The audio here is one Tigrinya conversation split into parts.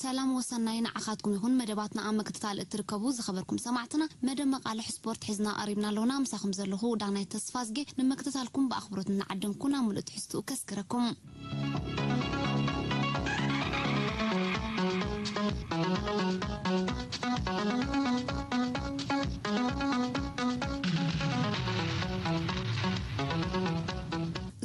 ሰላም ወሰናይ ንዓኻትኩም ይኹን። መደባትና ኣብ ምክትታል እትርከቡ ዝኸበርኩም ሰማዕትና፣ መደብ መቓልሕ ስፖርት ሒዝና ቀሪብና ኣለውና። ምሳኹም ዘለኹ ዳናይት ተስፋዝጌ። ንምክትታልኩም ብኣኽብሮት እናዓደምኩ ናብ ምሉእ ትሕዝትኡ ከስግረኩም።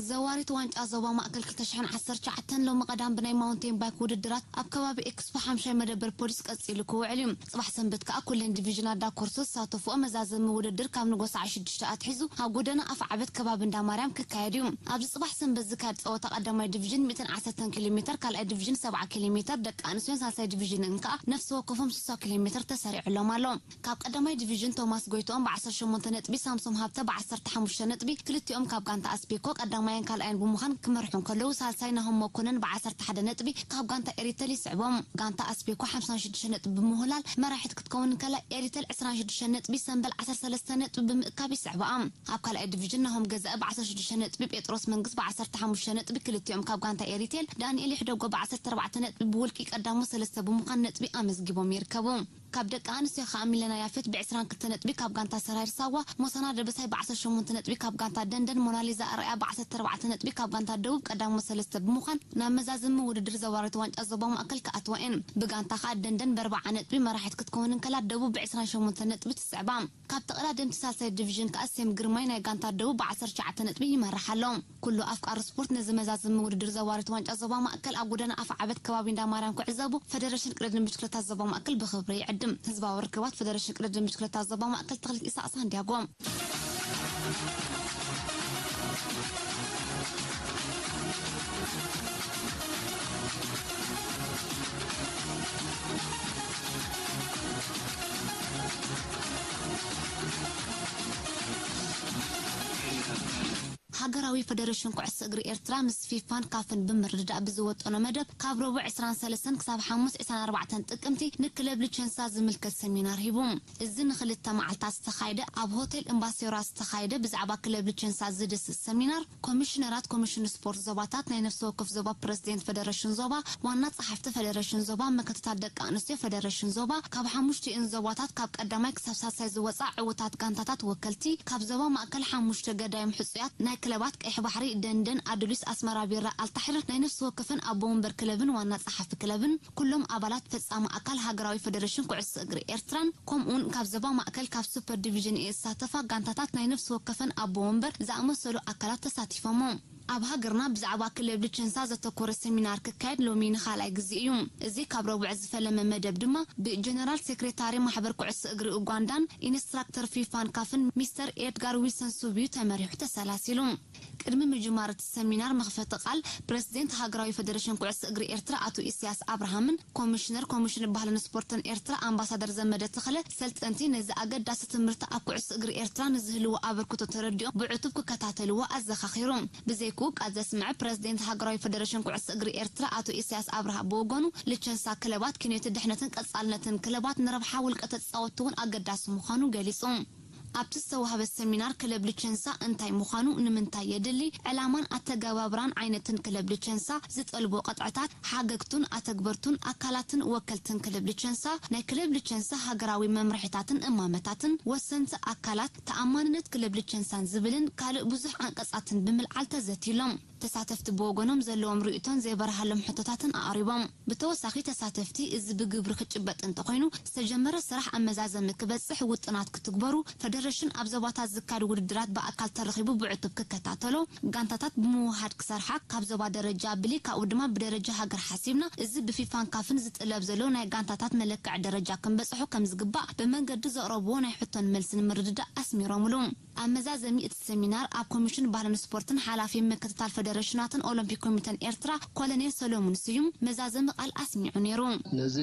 ዘዋሪት ዋንጫ ዞባ ማእከል ክልተ ሽሕን ዓሰርተ ትሽዓተን ሎሚ ቀዳም ብናይ ማውንቴን ባይክ ውድድራት ኣብ ከባቢ ኤክስፖ ሓምሻይ መደበር ፖሊስ ቀጺሉ ክውዕል እዩ። ጽባሕ ሰንበት ከኣ ኩለን ዲቪዥናት ዳኮርሶ ዝሳተፍኦ መዛዘሚ ውድድር ካብ ንጎ ሰዓት ሽዱሽተ ኣትሒዙ ኣብ ጎደና ኣፍዓበት ከባቢ እንዳ ማርያም ክካየድ እዩ። ኣብዚ ጽባሕ ሰንበት ዝካየድ ጸወታ ቀዳማይ ዲቪዥን ሚእትን ዓሰርተን ኪሎ ሜተር፣ ካልኣይ ዲቪዥን ሰብዓ ኪሎ ሜተር፣ ደቂ ኣንስትዮን ሳልሳይ ዲቪዥንን ከኣ ነፍሲ ወከፎም ስሳ ኪሎ ሜተር ተሰሪዑሎም ኣሎ። ካብ ቀዳማይ ዲቪዥን ቶማስ ጎይትኦም ብዓሰርተ ሸሞንተ ነጥቢ፣ ሳምሶም ሃብተ ብዓሰርተ ሓሙሽተ ነጥቢ፣ ክልቲኦም ካብ ጋንታ ኣስቤኮ ቀዳማይን ካልኣይን ብምዃን ክመርሑ እንከለዉ፣ ሳልሳይ ናሆም መኮነን ብዓሰርተ ሓደ ነጥቢ ካብ ጋንታ ኤሪተል ይስዕቦም። ጋንታ ኣስቤኮ ሓምሳን ሽዱሽተ ነጥቢ ብምውህላል መራሒት ክትከውን እንከላ፣ ኤሪተል ዕስራን ሽዱሽተ ነጥቢ፣ ሰምበል ዓሰርተ ሰለስተ ነጥቢ ብምእካብ ይስዕብኣ። ኣብ ካልኣይ ዲቪዥን ናሆም ገዛኢ ብዓሰርተ ሽዱሽተ ነጥቢ፣ ጴጥሮስ መንግስ ብዓሰርተ ሓሙሽተ ነጥቢ፣ ክልቲኦም ካብ ጋንታ ኤሪቴል፣ ዳንኤል ይሕደጎ ብዓሰርተ ኣርባዕተ ነጥቢ ብውልቂ ቀዳሞት ሰለስተ ብምዃን ነጥቢ ኣመዝጊቦም ይርከቡ። ካብ ደቂ ኣንስትዮ ከኣ ሚለና ያፌት ብዕስራን ክልተ ነጥቢ ካብ ጋንታ ሰራይር ሳዋ፣ ሞሳና ደበሳይ ብዓሰርተ ሸሞንተ ነጥቢ ካብ ጋንታ ደንደን፣ ሞናሊዛ ኣርኣያ ብዓሰርተ ኣርባዕተ ነጥቢ ካብ ጋንታ ደቡብ ቀዳሞት ሰለስተ ብምዃን ናብ መዛዘሚ ውድድር ዘዋሪት ዋንጫ ዞባ ማእከል ክኣትዋ እየን። ብጋንታ ከኣ ደንደን ብኣርባዓ ነጥቢ መራሒት ክትከውን እንከላ፣ ደቡብ ብዕስራን ሸሞንተ ነጥቢ ትስዕባ። ካብ ተቐዳደምቲ ሳልሳይ ዲቪዥን ከኣ ሴም ግርማይ ናይ ጋንታ ደቡብ ብዓሰርተ ትሽዓተ ነጥቢ ይመርሕ ኣሎ። ኩሉ ኣፍቃሪ ስፖርት ነዚ መዛዘሚ ውድድር ዘዋሪት ዋንጫ ዞባ ማእከል ኣብ ጎደና ኣፍዓበት ከባቢ እንዳ ማርያም ክዕዘቡ ፈደረሽን ቅድድም ብሽክለታ ዞባ ማእከል ብኽብሪ ይዕድም። ህዝባዊ ርክባት ፈደረሽን ቅድድም ብሽክለታ ዞባ ማእከል ተኽሊት ኢሳቕ ሳንዲያጎ። ሃገራዊ ፈደረሽን ኩዕሶ እግሪ ኤርትራ ምስ ፊፋን ካፍን ብምርድዳእ ብዝወጠኖ መደብ፣ ካብ ረቡዕ ዕስራን ሰለስተን ክሳብ ሓሙስ ዕስራን ኣርባዕተን ጥቅምቲ ንክለብ ልቸንሳ ዝምልከት ሰሚናር ሂቡ። እዚ ንክልተ መዓልታት ዝተኻየደ፣ ኣብ ሆቴል እምባሴራ ዝተኻየደ ብዛዕባ ክለብ ልቸንሳ ዝድስስ ሰሚናር፣ ኮሚሽነራት ኮሚሽን ስፖርት ዞባታት፣ ናይ ነፍሲ ወከፍ ዞባ ፕረዚደንት ፈደረሽን ዞባ፣ ዋና ጸሓፍቲ ፈደረሽን ዞባ፣ ምክትታል ደቂ ኣንስትዮ ፈደረሽን ዞባ፣ ካብ ሓሙሽቲኡን ዞባታት ካብ ቀዳማይ ክሳብ ሳልሳይ ዝወጻ ዕዉታት ጋንታታት ወከልቲ፣ ካብ ዞባ ማእከል ሓሙሽተ ገዳይም ሕጹያት ናይ ክለባት ቀይሕ ባሕሪ፣ ደንደን፣ ኣዱሊስ፣ ኣስመራ ቢራ፣ ኣልታሕሪር ናይ ነፍሲ ወከፈን ኣቦ ወንበር ክለብን ዋና ጸሓፊ ክለብን፣ ኩሎም ኣባላት ፈጻሚ ኣካል ሃገራዊ ፈደረሽን ኩዕሶ እግሪ ኤርትራን፣ ከምኡውን ካብ ዞባ ማእከል ካብ ሱፐር ዲቪዥን ኤ ዝሳተፋ ጋንታታት ናይ ነፍሲ ወከፈን ኣቦ ወንበር ዝኣመሰሉ ኣካላት ተሳቲፎሞ። ኣብ ሃገርና ብዛዕባ ክለብ ልቸንሳ ዘተኮረ ሰሚናር ክካየድ ሎሚ ንኻልኣይ ግዜ እዩ። እዚ ካብ ረቡዕ ዝፈለመ መደብ ድማ ብጀነራል ሴክሬታሪ ማሕበር ኩዕሶ እግሪ ኡጋንዳን ኢንስትራክተር ፊፋን ካፍን ሚስተር ኤድጋር ዊልሰን ሱብ እዩ ተመሪሑ ተሰላሲሉ። ቅድሚ ምጅማር እቲ ሰሚናር መኽፈቲ ቃል ፕረዚደንት ሃገራዊ ፈደረሽን ኩዕሶ እግሪ ኤርትራ ኣቶ ኢሳያስ ኣብርሃምን ኮሚሽነር ኮሚሽን ባህልን ስፖርትን ኤርትራ ኣምባሳደር ዘመደ ተኽለ ሰልጠንቲ ነዚ ኣገዳሲ ትምህርቲ ኣብ ኩዕሶ እግሪ ኤርትራ ንዝህልዎ ኣበርክቶ ተረዲኦም ብዕቱብ ክከታተልዎ ኣዘኻኺሩ። ብዘይክኡ ቃል ዘስምዐ ፕረዚደንት ሃገራዊ ፈደረሽን ኩዕሶ እግሪ ኤርትራ ኣቶ ኢሳያስ ኣብርሃ ብወገኑ ልቸንሳ ክለባት ክንዮቲ ድሕነትን ቀጻልነትን ክለባት ንረብሓ ውልቀ ተጻወትቲ እውን ኣገዳሲ ምዃኑ ገሊጹ። ኣብቲ ዝተዋህበ ሰሚናር ክለብ ልቸንሳ እንታይ ምዃኑ፣ ንምንታይ የድሊ፣ ዕላማን ኣተገባብራን ዓይነትን ክለብ ልቸንሳ፣ ዝጠልቦ ቅጥዕታት፣ ሓገግቱን ኣተግበርቱን ኣካላትን ወከልትን ክለብ ልቸንሳ፣ ናይ ክለብ ልቸንሳ ሃገራዊ መምርሒታትን እማመታትን፣ ወሰንቲ ኣካላት፣ ተኣማንነት ክለብ ልቸንሳን ዝብልን ካልእ ብዙሕ ዓንቀጻትን ብምልዓል ተዘትዩሎም። ተሳተፍቲ ብወገኖም ዘለዎም ርእይቶን ዘይበርሃሎም ሕቶታትን ኣቕሪቦም። ብተወሳኺ ተሳተፍቲ እዚ ብግብሪ ክጭበጥ እንተኾይኑ ዝተጀመረ ስራሕ ኣብ መዛዘሚ ክበጽሕ ውጥናት ክትግበሩ፣ ፈደረሽን ኣብ ዞባታት ዝካየድ ውድድራት ብኣካል ተረኺቡ ብዕቱብ ክከታተሎ፣ ጋንታታት ብምውህሃድ ክሰርሓ፣ ካብ ዞባ ደረጃ ብሊግ ካብኡ ድማ ብደረጃ ሃገር ሓሲብና እዚ ብፊፋን ካፍን ዝጥለብ ዘሎ ናይ ጋንታታት መለክዒ ደረጃ ክንበጽሖ ከም ዝግባእ ብመንገዲ ዘቕረብዎ ናይ ሕቶን መልስን ምርድዳእ ኣስሚሮምሉ። ኣብ መዛዘሚ እቲ ሰሚናር ኣብ ኮሚሽን ባህልን ስፖርትን ሓላፊ ምክትታል ፈደረሽናትን ኦሎምፒክ ኮሚተን ኤርትራ ኮሎኔል ሰሎሙን ስዩም መዛዘሚ ቃል ኣስሚዑ ነይሩ። ነዚ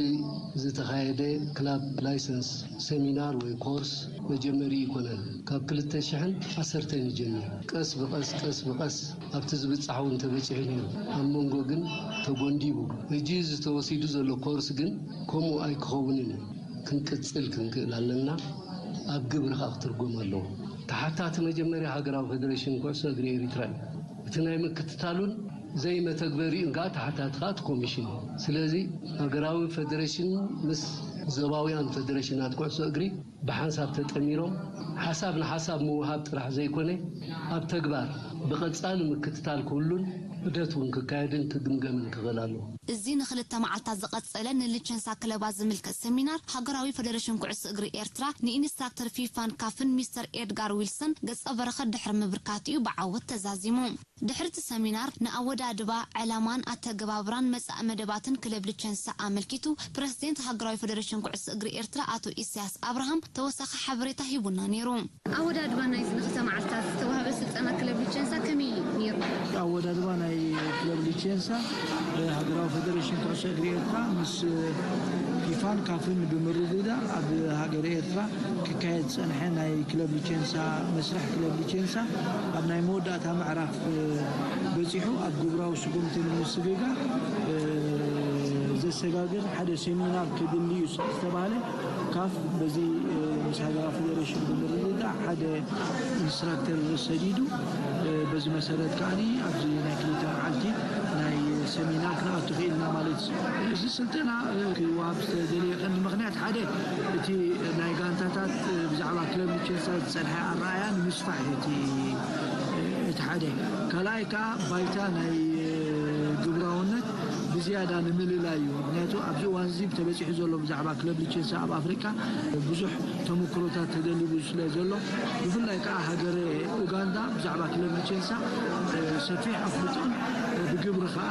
ዝተኻየደ ክላብ ላይሰንስ ሰሚናር ወይ ኮርስ መጀመሪ ይኮነን። ካብ ክልተ ሽሕን ዓሰርተን ይጀምር። ቀስ ብቐስ ቀስ ብቐስ ኣብቲ ዝብጻሕ እውን ተበጺሑ ነይሩ። ኣብ መንጎ ግን ተጎንዲቡ። ሕጂ ዝተወሲዱ ዘሎ ኮርስ ግን ከምኡ ኣይክኸውንን እዩ። ክንቅጽል ክንክእል ኣለና። ኣብ ግብሪ ከኣ ክትርጎም ኣለዎ። ተሓታቲ መጀመርያ ሃገራዊ ፈደሬሽን ኩዕሶ እግሪ ኤሪትራ እዩ። እቲ ናይ ምክትታሉን ዘይመተግበሪኡን ከዓ ተሓታቲ ከዓ እቲ ኮሚሽን እዩ። ስለዚ ሃገራዊ ፌደሬሽን ምስ ዞባውያን ፌደሬሽናት ኩዕሶ እግሪ ብሓንሳብ ተጠሚሮም ሓሳብ ንሓሳብ ምውሃብ ጥራሕ ዘይኮነ ኣብ ተግባር ብቐጻሊ ምክትታል ክህሉን ዑደት እውን ክካየድን ክግምገምን ክኽእል ኣለዎ። እዚ ንኽልተ መዓልታት ዝቐጸለ ንልቸንሳ ክለባት ዝምልከት ሰሚናር ሃገራዊ ፌደሬሽን ኩዕሶ እግሪ ኤርትራ ንኢንስትራክተር ፊፋን ካፍን ሚስተር ኤድጋር ዊልሰን ገጸ በረኸት ድሕሪ ምብርካት'ዩ ብዓወት ተዛዚሙ። ድሕሪ እቲ ሰሚናር ንኣወዳድባ፣ ዕላማን ኣተገባብራን መጻኢ መደባትን ክለብ ልቸንሳ ኣመልኪቱ ፕረዚደንት ሃገራዊ ፌደሬሽን ኩዕሶ እግሪ ኤርትራ ኣቶ ኢሳያስ ኣብርሃም ተወሳኺ ሓበሬታ ሂቡና ነይሩ። ኣወዳድባ ናይዚ ንኽልተ መዓልታት ዝተዋህበ ስልጠና ክለብ ሊቸንሳ ከመይ ነይሩ? ኣወዳድባ ናይ ክለብ ሊቸንሳ ብሃገራዊ ፌደሬሽን ኩዕሶ እግሪ ኤርትራ ምስ ፊፋን ካፍን ብምርድዳእ ኣብ ሃገረ ኤርትራ ክካየድ ዝጸንሐ ናይ ክለብ ሊቸንሳ መስርሕ ክለብ ሊቸንሳ ኣብ ናይ መወዳእታ ምዕራፍ በጺሑ ኣብ ግብራዊ ስጉምቲ ንምስግጋር ዘሰጋግር ሓደ ሴሚናር ክድሊ እዩ ዝተባህለ ካፍ በዚ ምስ ሃገራዊ ፌደሬሽን ብምርድዳእ ሓደ ኢንስትራክተር ሰዲዱ በዚ መሰረት ከዓኒ ኣብዚ ናይ ክልተ መዓልቲ ናይ ሰሚናር ክንኣቱ ክኢልና ማለት እዩ። እዚ ስልጠና ክወሃብ ዝተደልየ ቀንዲ ምኽንያት ሓደ እቲ ናይ ጋንታታት ብዛዕባ ክለብ ሊቸንሳ ዝጸንሐ ኣረኣያ ንምስፋሕ እዩ እቲ እቲ ሓደ። ካልኣይ ከዓ ባይታ ናይ ግብራውነት ብዝያዳ ንምልላይ እዩ። ምክንያቱ ኣብዚ እዋን እዚ ተበፂሑ ዘሎ ብዛዕባ ክለብ ሊቸንሳ ኣብ ኣፍሪቃ ብዙሕ ተመክሮታት ተደሊቡ ስለ ዘሎ ብፍላይ ከዓ ሃገረ ኡጋንዳ ብዛዕባ ክለብ ሊቸንሳ ሰፊሕ ኣፍልጦን ብግብሪ ከዓ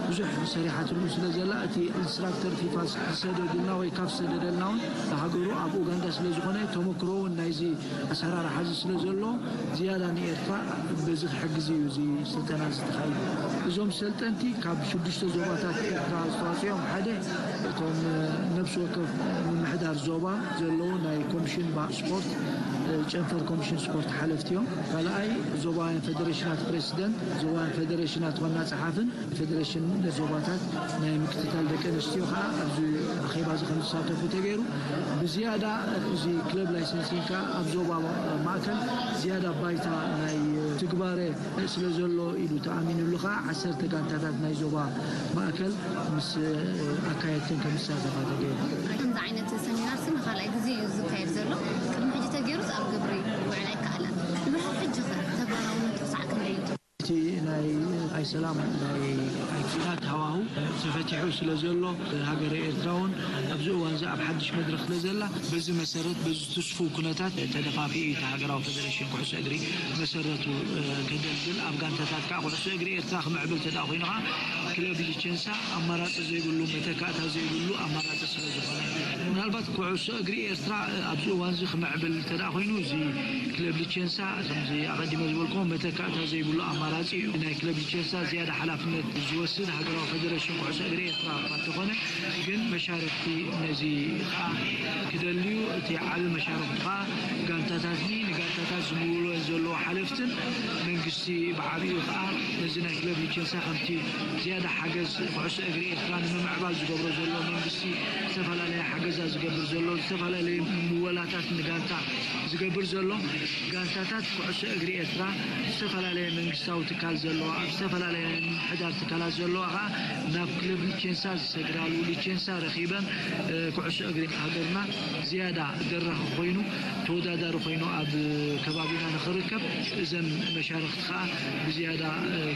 ብዙሕ ሰሪሓትሉ ስለ ዘላ እቲ ኢንስትራክተር ፊፋ ዝሰደዱልና ወይ ካፍ ዝሰደደልና እውን ሃገሩ ኣብ ኡጋንዳ ስለ ዝኾነ ተመክሮ እውን ናይዚ ኣሰራርሓ እዚ ስለ ዘሎ ዝያዳ ንኤርትራ በዚ ክሕግዝ እዩ እዚ ስልጠና እዚ ተኻይዱ። እዞም ሰልጠንቲ ካብ ሽዱሽተ ዞባታት ኤርትራ ዝተዋፅኦም ሓደ እቶም ነብሲ ወከፍ ምምሕዳር ዞባ ዘለዉ ናይ ኮሚሽን ስፖርት ጨንፈር ኮሚሽን ስፖርት ሓለፍቲ እዮም። ካልኣይ ዞባውያን ፌደሬሽናት ፕሬዚደንት፣ ዞባውያን ፌደሬሽናት ዋና ጸሓፍን ፌደሬሽን ዞባታት ናይ ምክትታል ደቂ ኣንስትዮ ከዓ ኣብዚ ኣኼባ እዚ ከም ዝሳተፉ ተገይሩ። ብዝያዳ እዚ ክለብ ላይሰንሲንግ ከዓ ኣብ ዞባ ማእከል ዝያዳ ባይታ ናይ ትግባረ ስለ ዘሎ ኢሉ ተኣሚኑሉ ከዓ ዓሰርተ ጋንታታት ናይ ዞባ ማእከል ምስ ኣካየድትን ከም ዝሳተፋ ተገይሩ። ከምዚ ዓይነት ሰሚናር ሲ ንኻልኣይ ግዜ እዩ ዝካየድ ዘሎ። ቅድሚ ሕጂ ተገይሩስ ኣብ ግብሪ ክውዕል ኣይከኣለን። ድሕሪ ሕጂ ኸ ተግባራውነቱ ክሳዕ ክንደይ እዩ? እቲ ናይ ኣይሰላም ናይ ኣይኩናት ሃዋሁ ተፈቲሑ ስለ ዘሎ ሃገረ ኤርትራ እውን ኣብዚ እዋን እዚ ኣብ ሓድሽ መድረክ ስለ ዘላ በዚ መሰረት በዚ ትስፉው ኩነታት ተደፋፊኡ እዩ እቲ ሃገራዊ ፌደሬሽን ኩዕሶ እግሪ መሰረቱ ከገልግል ኣብ ጋንታታት ከዓ ኩዕሶ እግሪ ኤርትራ ክምዕብል ተዳ ኮይኑ ከዓ ክለብ ሊቸንሳ ኣማራፂ ዘይብሉ መተካእታ ዘይብሉ ኣማራፂ ስለ ዝኾነ ምናልባት ኩዕሶ እግሪ ኤርትራ ኣብዚ እዋን እዚ ክምዕብል ተዳ ኮይኑ እዚ ክለብ ሊቸንሳ ከምዚ ኣቐዲመ ዝበልኩዎ መተካእታ ዘይብሉ ኣማራፂ እዩ። ናይ ክለብ ሊቸንሳ ዝያዳ ሓላፍነት ዝወስድ ሃገራዊ ፌደሬሽን ኩዕሶ እግሪ ኤርትራ እኳ እንተኾነ ግን መሻርክቲ ነዚ ከዓ ክደልዩ እቲ ዓቢ መሻርክቲ ከዓ ጋንታታትኒ ንጋንታታት ዝምውሎ ዘለዎ ሓለፍትን መንግስቲ ብዓቢኡ ከዓ ነዚ ናይ ክለብ ሊቸንሳ ከምቲ ዝያዳ ሓገዝ ኩዕሶ እግሪ ኤርትራ ንምምዕባል ዝገብሮ ዘሎ መንግስቲ ዝተፈላለየ ሓገዛ ዝገብር ዘሎ ዝተፈላለየ ምወላታት ንጋንታ ዝገብር ዘሎ ጋንታታት ኩዕሶ እግሪ ኤርትራ ዝተፈላለየ መንግስታዊ ትካል ዘለዋ ኣብ ዝተፈላለየ ናይ ምምሕዳር ትካላት ዘለዋ ከዓ ናብ ክለብ ሊቸንሳ ዝሰግዳሉ ሊቸንሳ ረኺበን ኩዕሶ እግሪ ሃገርና ዝያዳ ደራኺ ኮይኑ ተወዳዳሪ ኮይኑ ኣብ ከባቢና ንኽርከብ እዘን መሻርክቲ ከዓ ብዝያዳ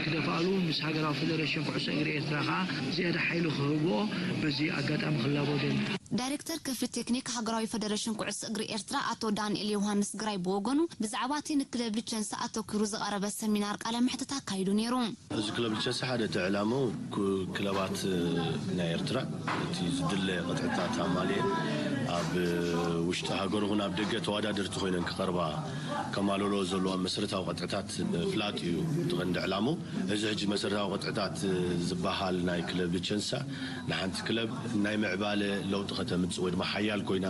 ክደፍኣሉ ምስ ሃገራዊ ፌደሬሽን ኩዕሶ እግሪ ኤርትራ ከዓ ዝያዳ ሓይሊ ክህብኦ በዚ ኣጋጣሚ ክላቦ ደሊ። ዳይሬክተር ክፍሊ ቴክኒክ ሃገራዊ ፌደሬሽን ኩዕሶ እግሪ ኤርትራ ኣቶ ዳንኤል ዮሃንስ ግራይ ብወገኑ ብዛዕባ እቲ ንክለብ ሊቸንሳ ኣተኲሩ ዝቐረበ ሰሚናር ቃለ መሕትት ኣካይዱ ነይሩ። እዚ ክለብ ሊቸንሳ ሓደ እቲ ዕላምኡ ክለባት ናይ ኤርትራ እቲ ዝድለ ቅጥዕታት ኣማልኤን ኣብ ውሽጢ ሃገሩ እውን ኣብ ደገ ተወዳደርቲ ኮይነን ክቐርባ ከማልሎ ዘለዋ መሰረታዊ ቅጥዕታት ፍላጥ እዩ እቲ ቀንዲ ዕላምኡ። እዚ ሕጂ መሰረታዊ ቅጥዕታት ዝበሃል ናይ ክለብ ሊቸንሳ ንሓንቲ ክለብ ናይ ምዕባለ ለውጢ ከተምጽእ ወይ ድማ ሓያል ኮይና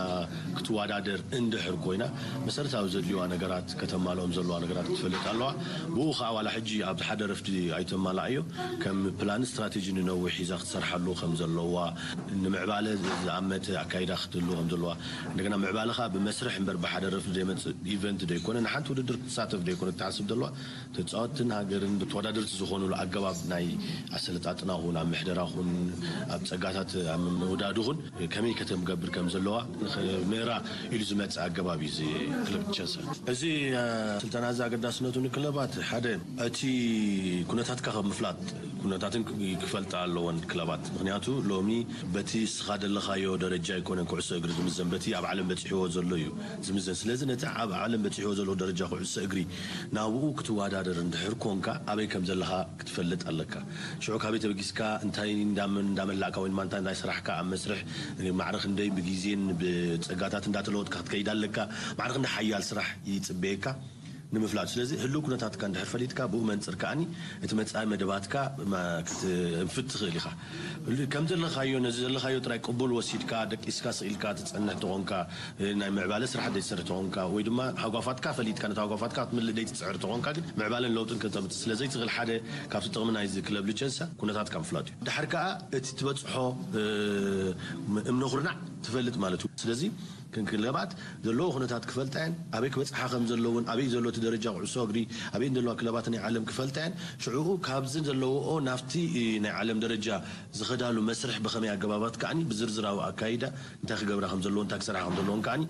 ክትወዳደር እንድሕር ኮይና መሰረታዊ ዘድልዋ ነገራት ከተማልኦም ዘለዋ ነገራት ክትፈልጥ ኣለዋ። ብኡ ከዓ ዋላ ሕጂ ኣብዚ ሓደ ረፍዲ ኣይተማላኣዮ ከም ፕላን ስትራቴጂ ንነዊሕ ሒዛ ክትሰርሓሉ ከም ዘለዋ ንምዕባለ ዝኣመተ ኣካይዳ ክትህሉ ዘለዋ። እንደገና ምዕባለ ኸኣ ብመስርሕ እምበር ብሓደ ረፍ ዘይመጽእ ኢቨንት ዶ ይኮነ፣ ንሓንቲ ውድድር ክትሳተፍ ዶ ይኮነ ትሓስብ ዘለዋ። ተጻወትትን ሃገርን ተወዳደርቲ ዝኾኑሉ ኣገባብ ናይ ኣሰለጣጥና ኹን፣ ኣብ ምሕደራ ኹን፣ ኣብ ጸጋታት ኣብ ምውዳዱ ኹን ከመይ ከተምገብር ከም ዘለዋ ሜራ ኢሉ ዝመጽእ ኣገባብ እዩ እዚ ክለብ ቸልሲ። እዚ ስልጠና እዚ ኣገዳስነቱ ንክለባት ሓደ እቲ ኩነታትካ ከም ምፍላጥ ኩነታትን ክፈልጣ ኣለዎን ክለባት። ምክንያቱ ሎሚ በቲ እስኻ ዘለኻዮ ደረጃ ኣይኮነን ኩዕሶ እግሪ ዝምዘን፣ በቲ ኣብ ዓለም በፂሕዎ ዘሎ እዩ ዝምዘን። ስለዚ ነቲ ኣብ ዓለም በፂሕዎ ዘሎ ደረጃ ኩዕሶ እግሪ ናብኡ ክትወዳደር እንድሕር ኮንካ ኣበይ ከም ዘለኻ ክትፈልጥ ኣለካ። ሽዑ ካበይ ተበጊስካ እንታይ እንዳመላእካ ወይ ድማ እንታይ እንዳይ ስራሕካ ኣብ መስርሕ ማዕረ ክንደይ ብግዜን ብፀጋታት እንዳተለወጥካ ክትከይድ ኣለካ። ማዕረ ክንደይ ሓያል ስራሕ ይፅበየካ ንምፍላጥ። ስለዚ ህልው ኩነታትካ እንድሕር ፈሊጥካ ብኡ መንፅር ከኣኒ እቲ መፃኢ መደባትካ ክትንፍት ትኽእል ኢኻ። ከም ዘለኻዮ ነዚ ዘለኻዮ ጥራይ ቅቡል ወሲድካ ደቂስካ ስኢልካ ትፀንሕ ተኾንካ፣ ናይ ምዕባለ ስራሕ ዘይትሰርሕ ተኾንካ ወይ ድማ ሃጓፋትካ ፈሊጥካ ነቲ ሃጓፋትካ ክትምልእ ዘይትፅዕር ተኾንካ ግን ምዕባለን ለውጥን ከተምፅእ ስለዘይትኽእል ሓደ ካብቲ ጥቕሚ ናይዚ ክለብ ልቸንሳ ኩነታትካ ምፍላጥ እዩ። ድሓር ከዓ እቲ ትበፅሖ እምነ ኩርናዕ ትፈልጥ ማለት እዩ። ስለዚ ክንክለባት ዘለዎ ኩነታት ክፈልጣ እየን፣ ኣበይ ክበፅሓ ከም ዘለውን ኣበይ ዘሎ እቲ ደረጃ ኩዕሶ እግሪ ኣበይ ዘለዋ ክለባት ናይ ዓለም ክፈልጣ እየን። ሽዕኡ ካብዚ ዘለዎኦ ናብቲ ናይ ዓለም ደረጃ ዝኸዳሉ መስርሕ ብኸመይ ኣገባባት ከዓኒ ብዝርዝራዊ ኣካይዳ እንታይ ክገብራ ከም ዘለዎ እንታይ ክሰርሓ ከም ዘለዎም ከዓኒ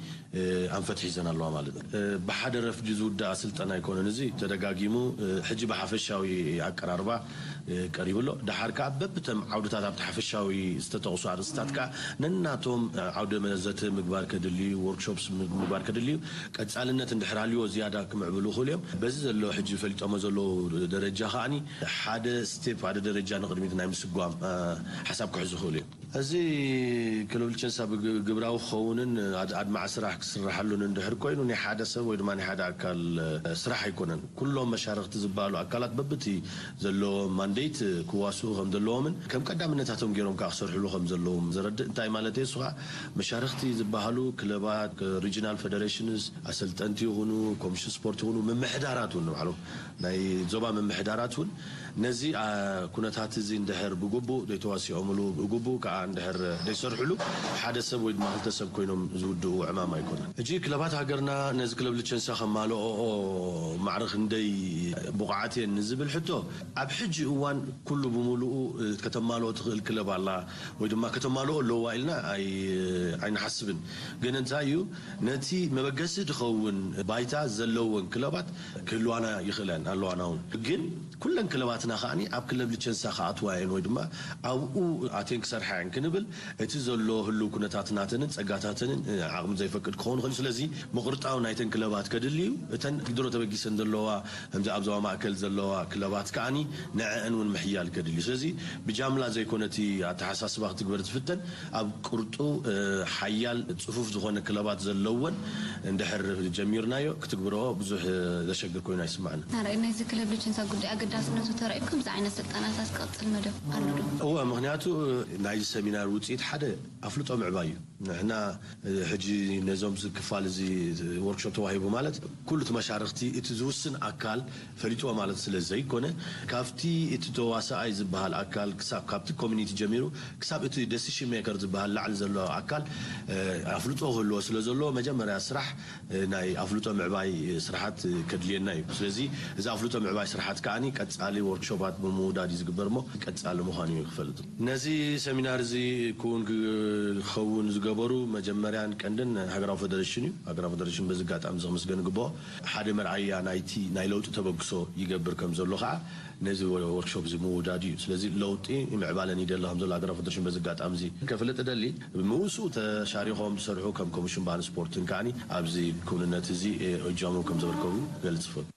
ኣንፈት ሒዘን ኣለዋ ማለት እዩ። ብሓደ ረፍዲ ዝውዳእ ስልጠና ኣይኮነን፣ እዚ ተደጋጊሙ ሕጂ ብሓፈሻዊ ኣቀራርባ ቀሪቡ ኣሎ። ደሓር ከዓ በብተም ዓውድታት ኣብቲ ሓፈሻዊ ዝተጠቕሱ ኣርእስታት ከዓ ነናቶም ዓውደ መዘተ ምግባር ከድልዩ፣ ወርክሾፕስ ምግባር ከድልዩ፣ ቀፃልነት እንድሕር ሃልዎ ዝያዳ ክምዕብሉ ይኽእሉ እዮም። በዚ ዘሎ ሕጂ ፈሊጦሞ ዘለዉ ደረጃ ከዓኒ ሓደ ስቴፕ ሓደ ደረጃ ንቕድሚት ናይ ምስጓም ሓሳብ ክሕዙ ይኽእሉ እዮም። እዚ ክልብል ቸንሳ ብግብራዊ ክኸውንን ኣድማዕ ስራሕ ክስርሓሉን እንድሕር ኮይኑ ናይ ሓደ ሰብ ወይ ድማ ናይ ሓደ ኣካል ስራሕ ኣይኮነን። ኩሎም መሻርክቲ ዝበሃሉ ኣካላት በብቲ ዘለዎም ማንዴት ክዋስኡ ከም ዘለዎምን ከም ቀዳምነታቶም ገይሮም ከዓ ክሰርሕሉ ከም ዘለዎም ዘረድእ። እንታይ ማለት እየ? እሱ ከዓ መሻርክቲ ዝበሃሉ ክለባት፣ ሪጂናል ፌደሬሽንስ፣ ኣሰልጠንቲ ይኹኑ፣ ኮሚሽን ስፖርት ይኹኑ፣ ምምሕዳራት እውን ንባዕሎም ናይ ዞባ ምምሕዳራት እውን ነዚ ኩነታት እዚ እንድሕር ብግቡእ ዘይተዋሲኦምሉ ብግቡእ ከዓ እንድሕር ዘይሰርሕሉ ሓደ ሰብ ወይ ድማ ክልተ ሰብ ኮይኖም ዝውድኡ ዕማም ኣይኮነን። ሕጂ ክለባት ሃገርና ነዚ ክለብ ልቸንሳ ከማልኦኦ ማዕረ ክንደይ ብቑዓት እየን ንዝብል ሕቶ ኣብ ሕጂ እዋን ኩሉ ብምሉኡ ከተማልኦ ትኽእል ክለብ ኣላ ወይ ድማ ከተማልኦ ኣለዋ ኢልና ኣይንሓስብን። ግን እንታይ እዩ ነቲ መበገሲ ዝኸውን ባይታ ዘለወን ክለባት ክህልዋና ይኽእለን ኣለዋና እውን ግን ኩለን ክለባትና ከዓኒ ኣብ ክለብ ልቸንሳ ክኣትዋ እየን ወይ ድማ ኣብኡ ኣትየን ክሰርሓ እየን ክንብል እቲ ዘሎ ህልው ኩነታት ናተንን ጸጋታተንን ዓቕሚ ዘይፈቅድ ክኸውን ይኽእል። ስለዚ ምቕርጣው ናይተን ክለባት ከድሊ እዩ። እተን ድሮ ተበጊሰን ዘለዋ ከምዚ ኣብ ዞባ ማእከል ዘለዋ ክለባት ከዓኒ ንዐአን እውን ምሕያል ከድሊ እዩ። ስለዚ ብጃምላ ዘይኮነ እቲ ኣተሓሳስባ ክትግበር ትፍተን ኣብ ቅርጡ ሓያል ጽፉፍ ዝኾነ ክለባት ዘለወን እንድሕር ጀሚርናዮ ክትግብረኦ ብዙሕ ዘሸግር ኮይኑ ኣይስማዕና። ናራይ ናይዚ ክለብ ልጅንሳ ጉዳይ ኣገዳስነቱ ተራእዩ ከምዚ ዓይነት ስልጠናታት ክቐጽል መደብ ኣሎ ዶ? እወ፣ ምክንያቱ ናይዚ ሰሚናር ውፅኢት ሓደ ኣፍልጦ ምዕባይ እዩ። ንሕና ሕጂ ነዞም ክፋል እዚ ወርክሾፕ ተዋሂቡ ማለት ኩሉ እቲ መሻርክቲ እቲ ዝውስን ኣካል ፈሊጥዎ ማለት ስለ ዘይኮነ ካብቲ እቲ ተዋሳኣይ ዝበሃል ኣካል ክሳብ ካብቲ ኮሚኒቲ ጀሚሩ ክሳብ እቲ ደሲሽን ሜከር ዝበሃል ላዕሊ ዘሎ ኣካል ኣፍልጦ ክህልዎ ስለ ዘለዎ መጀመርያ ስራሕ ናይ ኣፍልጦ ምዕባይ ስራሓት ከድልየና እዩ። ስለዚ እዚ ኣፍልጦ ምዕባይ ስራሓት ከዓኒ ቀጻሊ ወርክሾፓት ብምውዳድ እዩ ዝግበር እሞ ቀጻሊ ምዃኑ እዩ ክፈልጥ። ነዚ ሰሚናር እዚ ክውን ክኸውን ዝገበሩ መጀመርያን ቀንድን ሃገራዊ ፌደሬሽን እዩ። ሃገራዊ ፌደሬሽን በዚ ኣጋጣሚ እዚ ክምስገን ይግብኦ። ሓደ መርኣያ ናይቲ ናይ ለውጢ ተበግሶ ይገብር ከም ዘሎ ከዓ ነዚ ወርክሾፕ እዚ ምውዳድ እዩ። ስለዚ ለውጢ ምዕባለን ይደሊ ከም ዘሎ ሃገራዊ ፌደሬሽን በዚ ኣጋጣሚ እዚ ከፍልጥ እደሊ። ምእሱ ተሻሪኾም ዝሰርሑ ከም ኮሚሽን ባህልን ስፖርትን ከዓኒ ኣብዚ ክውንነት እዚ እጃሞም ከም ዘበርከቡ ክገልጽ እፈቱ።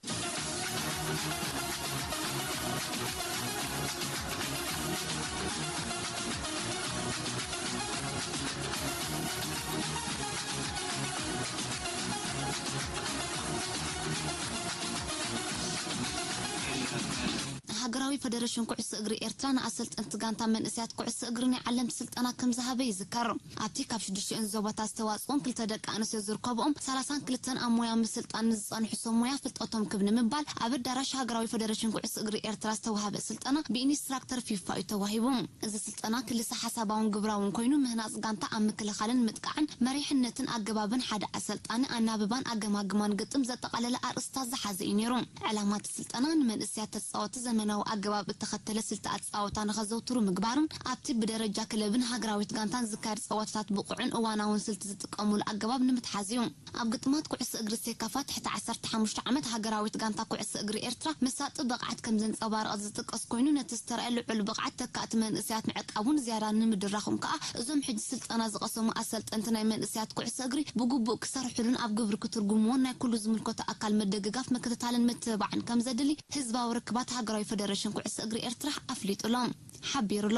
ሃገራዊ ፈደረሽን ኩዕሶ እግሪ ኤርትራ ንኣሰልጠንቲ ጋንታ መንእሰያት ኩዕሶ እግሪ ናይ ዓለምቲ ስልጠና ከም ዝሃበ ይዝከር። ኣብቲ ካብ ሽዱሽተን ዞባታት ዝተዋጽኦን ክልተ ደቂ ኣንስትዮ ዝርከብኦም ሰላሳን ክልተን ኣብ ሞያ ምስልጣን ንዝጸንሑ ሰብ ሞያ ፍልጠቶም ክብ ንምባል ኣብ ኣዳራሽ ሃገራዊ ፈደረሽን ኩዕሶ እግሪ ኤርትራ ዝተዋሃበ ስልጠና ብኢንስትራክተር ፊፋ እዩ ተዋሂቡ። እዚ ስልጠና ክልሰ ሓሳባውን ግብራውን ኮይኑ ምህናጽ ጋንታ ኣብ ምክልኻልን ምጥቃዕን መሪሕነትን ኣገባብን ሓደ ኣሰልጣኒ ኣናብባን ኣገማግማን ግጥም ዘጠቓለለ ኣርእስታት ዝሓዘ እዩ ነይሩ። ዕላማ እቲ ስልጠና ንመንእሰያት ተጻወቲ ዘመናዊ ኣገባብ እተኸተለ ስልቲ ኣጻወታ ንኸዘውትሩ ምግባርን ኣብቲ ብደረጃ ክለብን ሃገራዊት ጋንታን ዝካየድ ጸወታታት ብቑዕን እዋናውን ስልቲ ዝጥቀሙሉ ኣገባብ ንምትሓዝ እዩ። ኣብ ግጥማት ኩዕሶ እግሪ ሴካፋ ትሕቲ ዓሰርተ ሓሙሽተ ዓመት ሃገራዊት ጋንታ ኩዕሶ እግሪ ኤርትራ መሳጢ ብቕዓት ከም ዘንጸባረቐት ዝጥቀስ ኮይኑ ነቲ ዝተረኣየ ልዑል ብቕዓት ተካእቲ መንእሰያት ምዕቃቡን ዝያዳ ንምድራኹም ከኣ እዞም ሕጂ ስልጠና ዝቐሰሙ ኣሰልጠንቲ ናይ መንእሰያት ኩዕሶ እግሪ ብግቡእ ክሰርሕሉን ኣብ ግብሪ ክትርጉምዎን ናይ ኩሉ ዝምልከቶ ኣካል ምድግጋፍ ምክትታልን ምትብባዕን ከም ዘድሊ ህዝባዊ ርክባት ሃገራዊ ፈደረሽን ኩዕሶ እግሪ ኤርትራ ኣፍሊጡሎ፣ ሓቢሩሎ።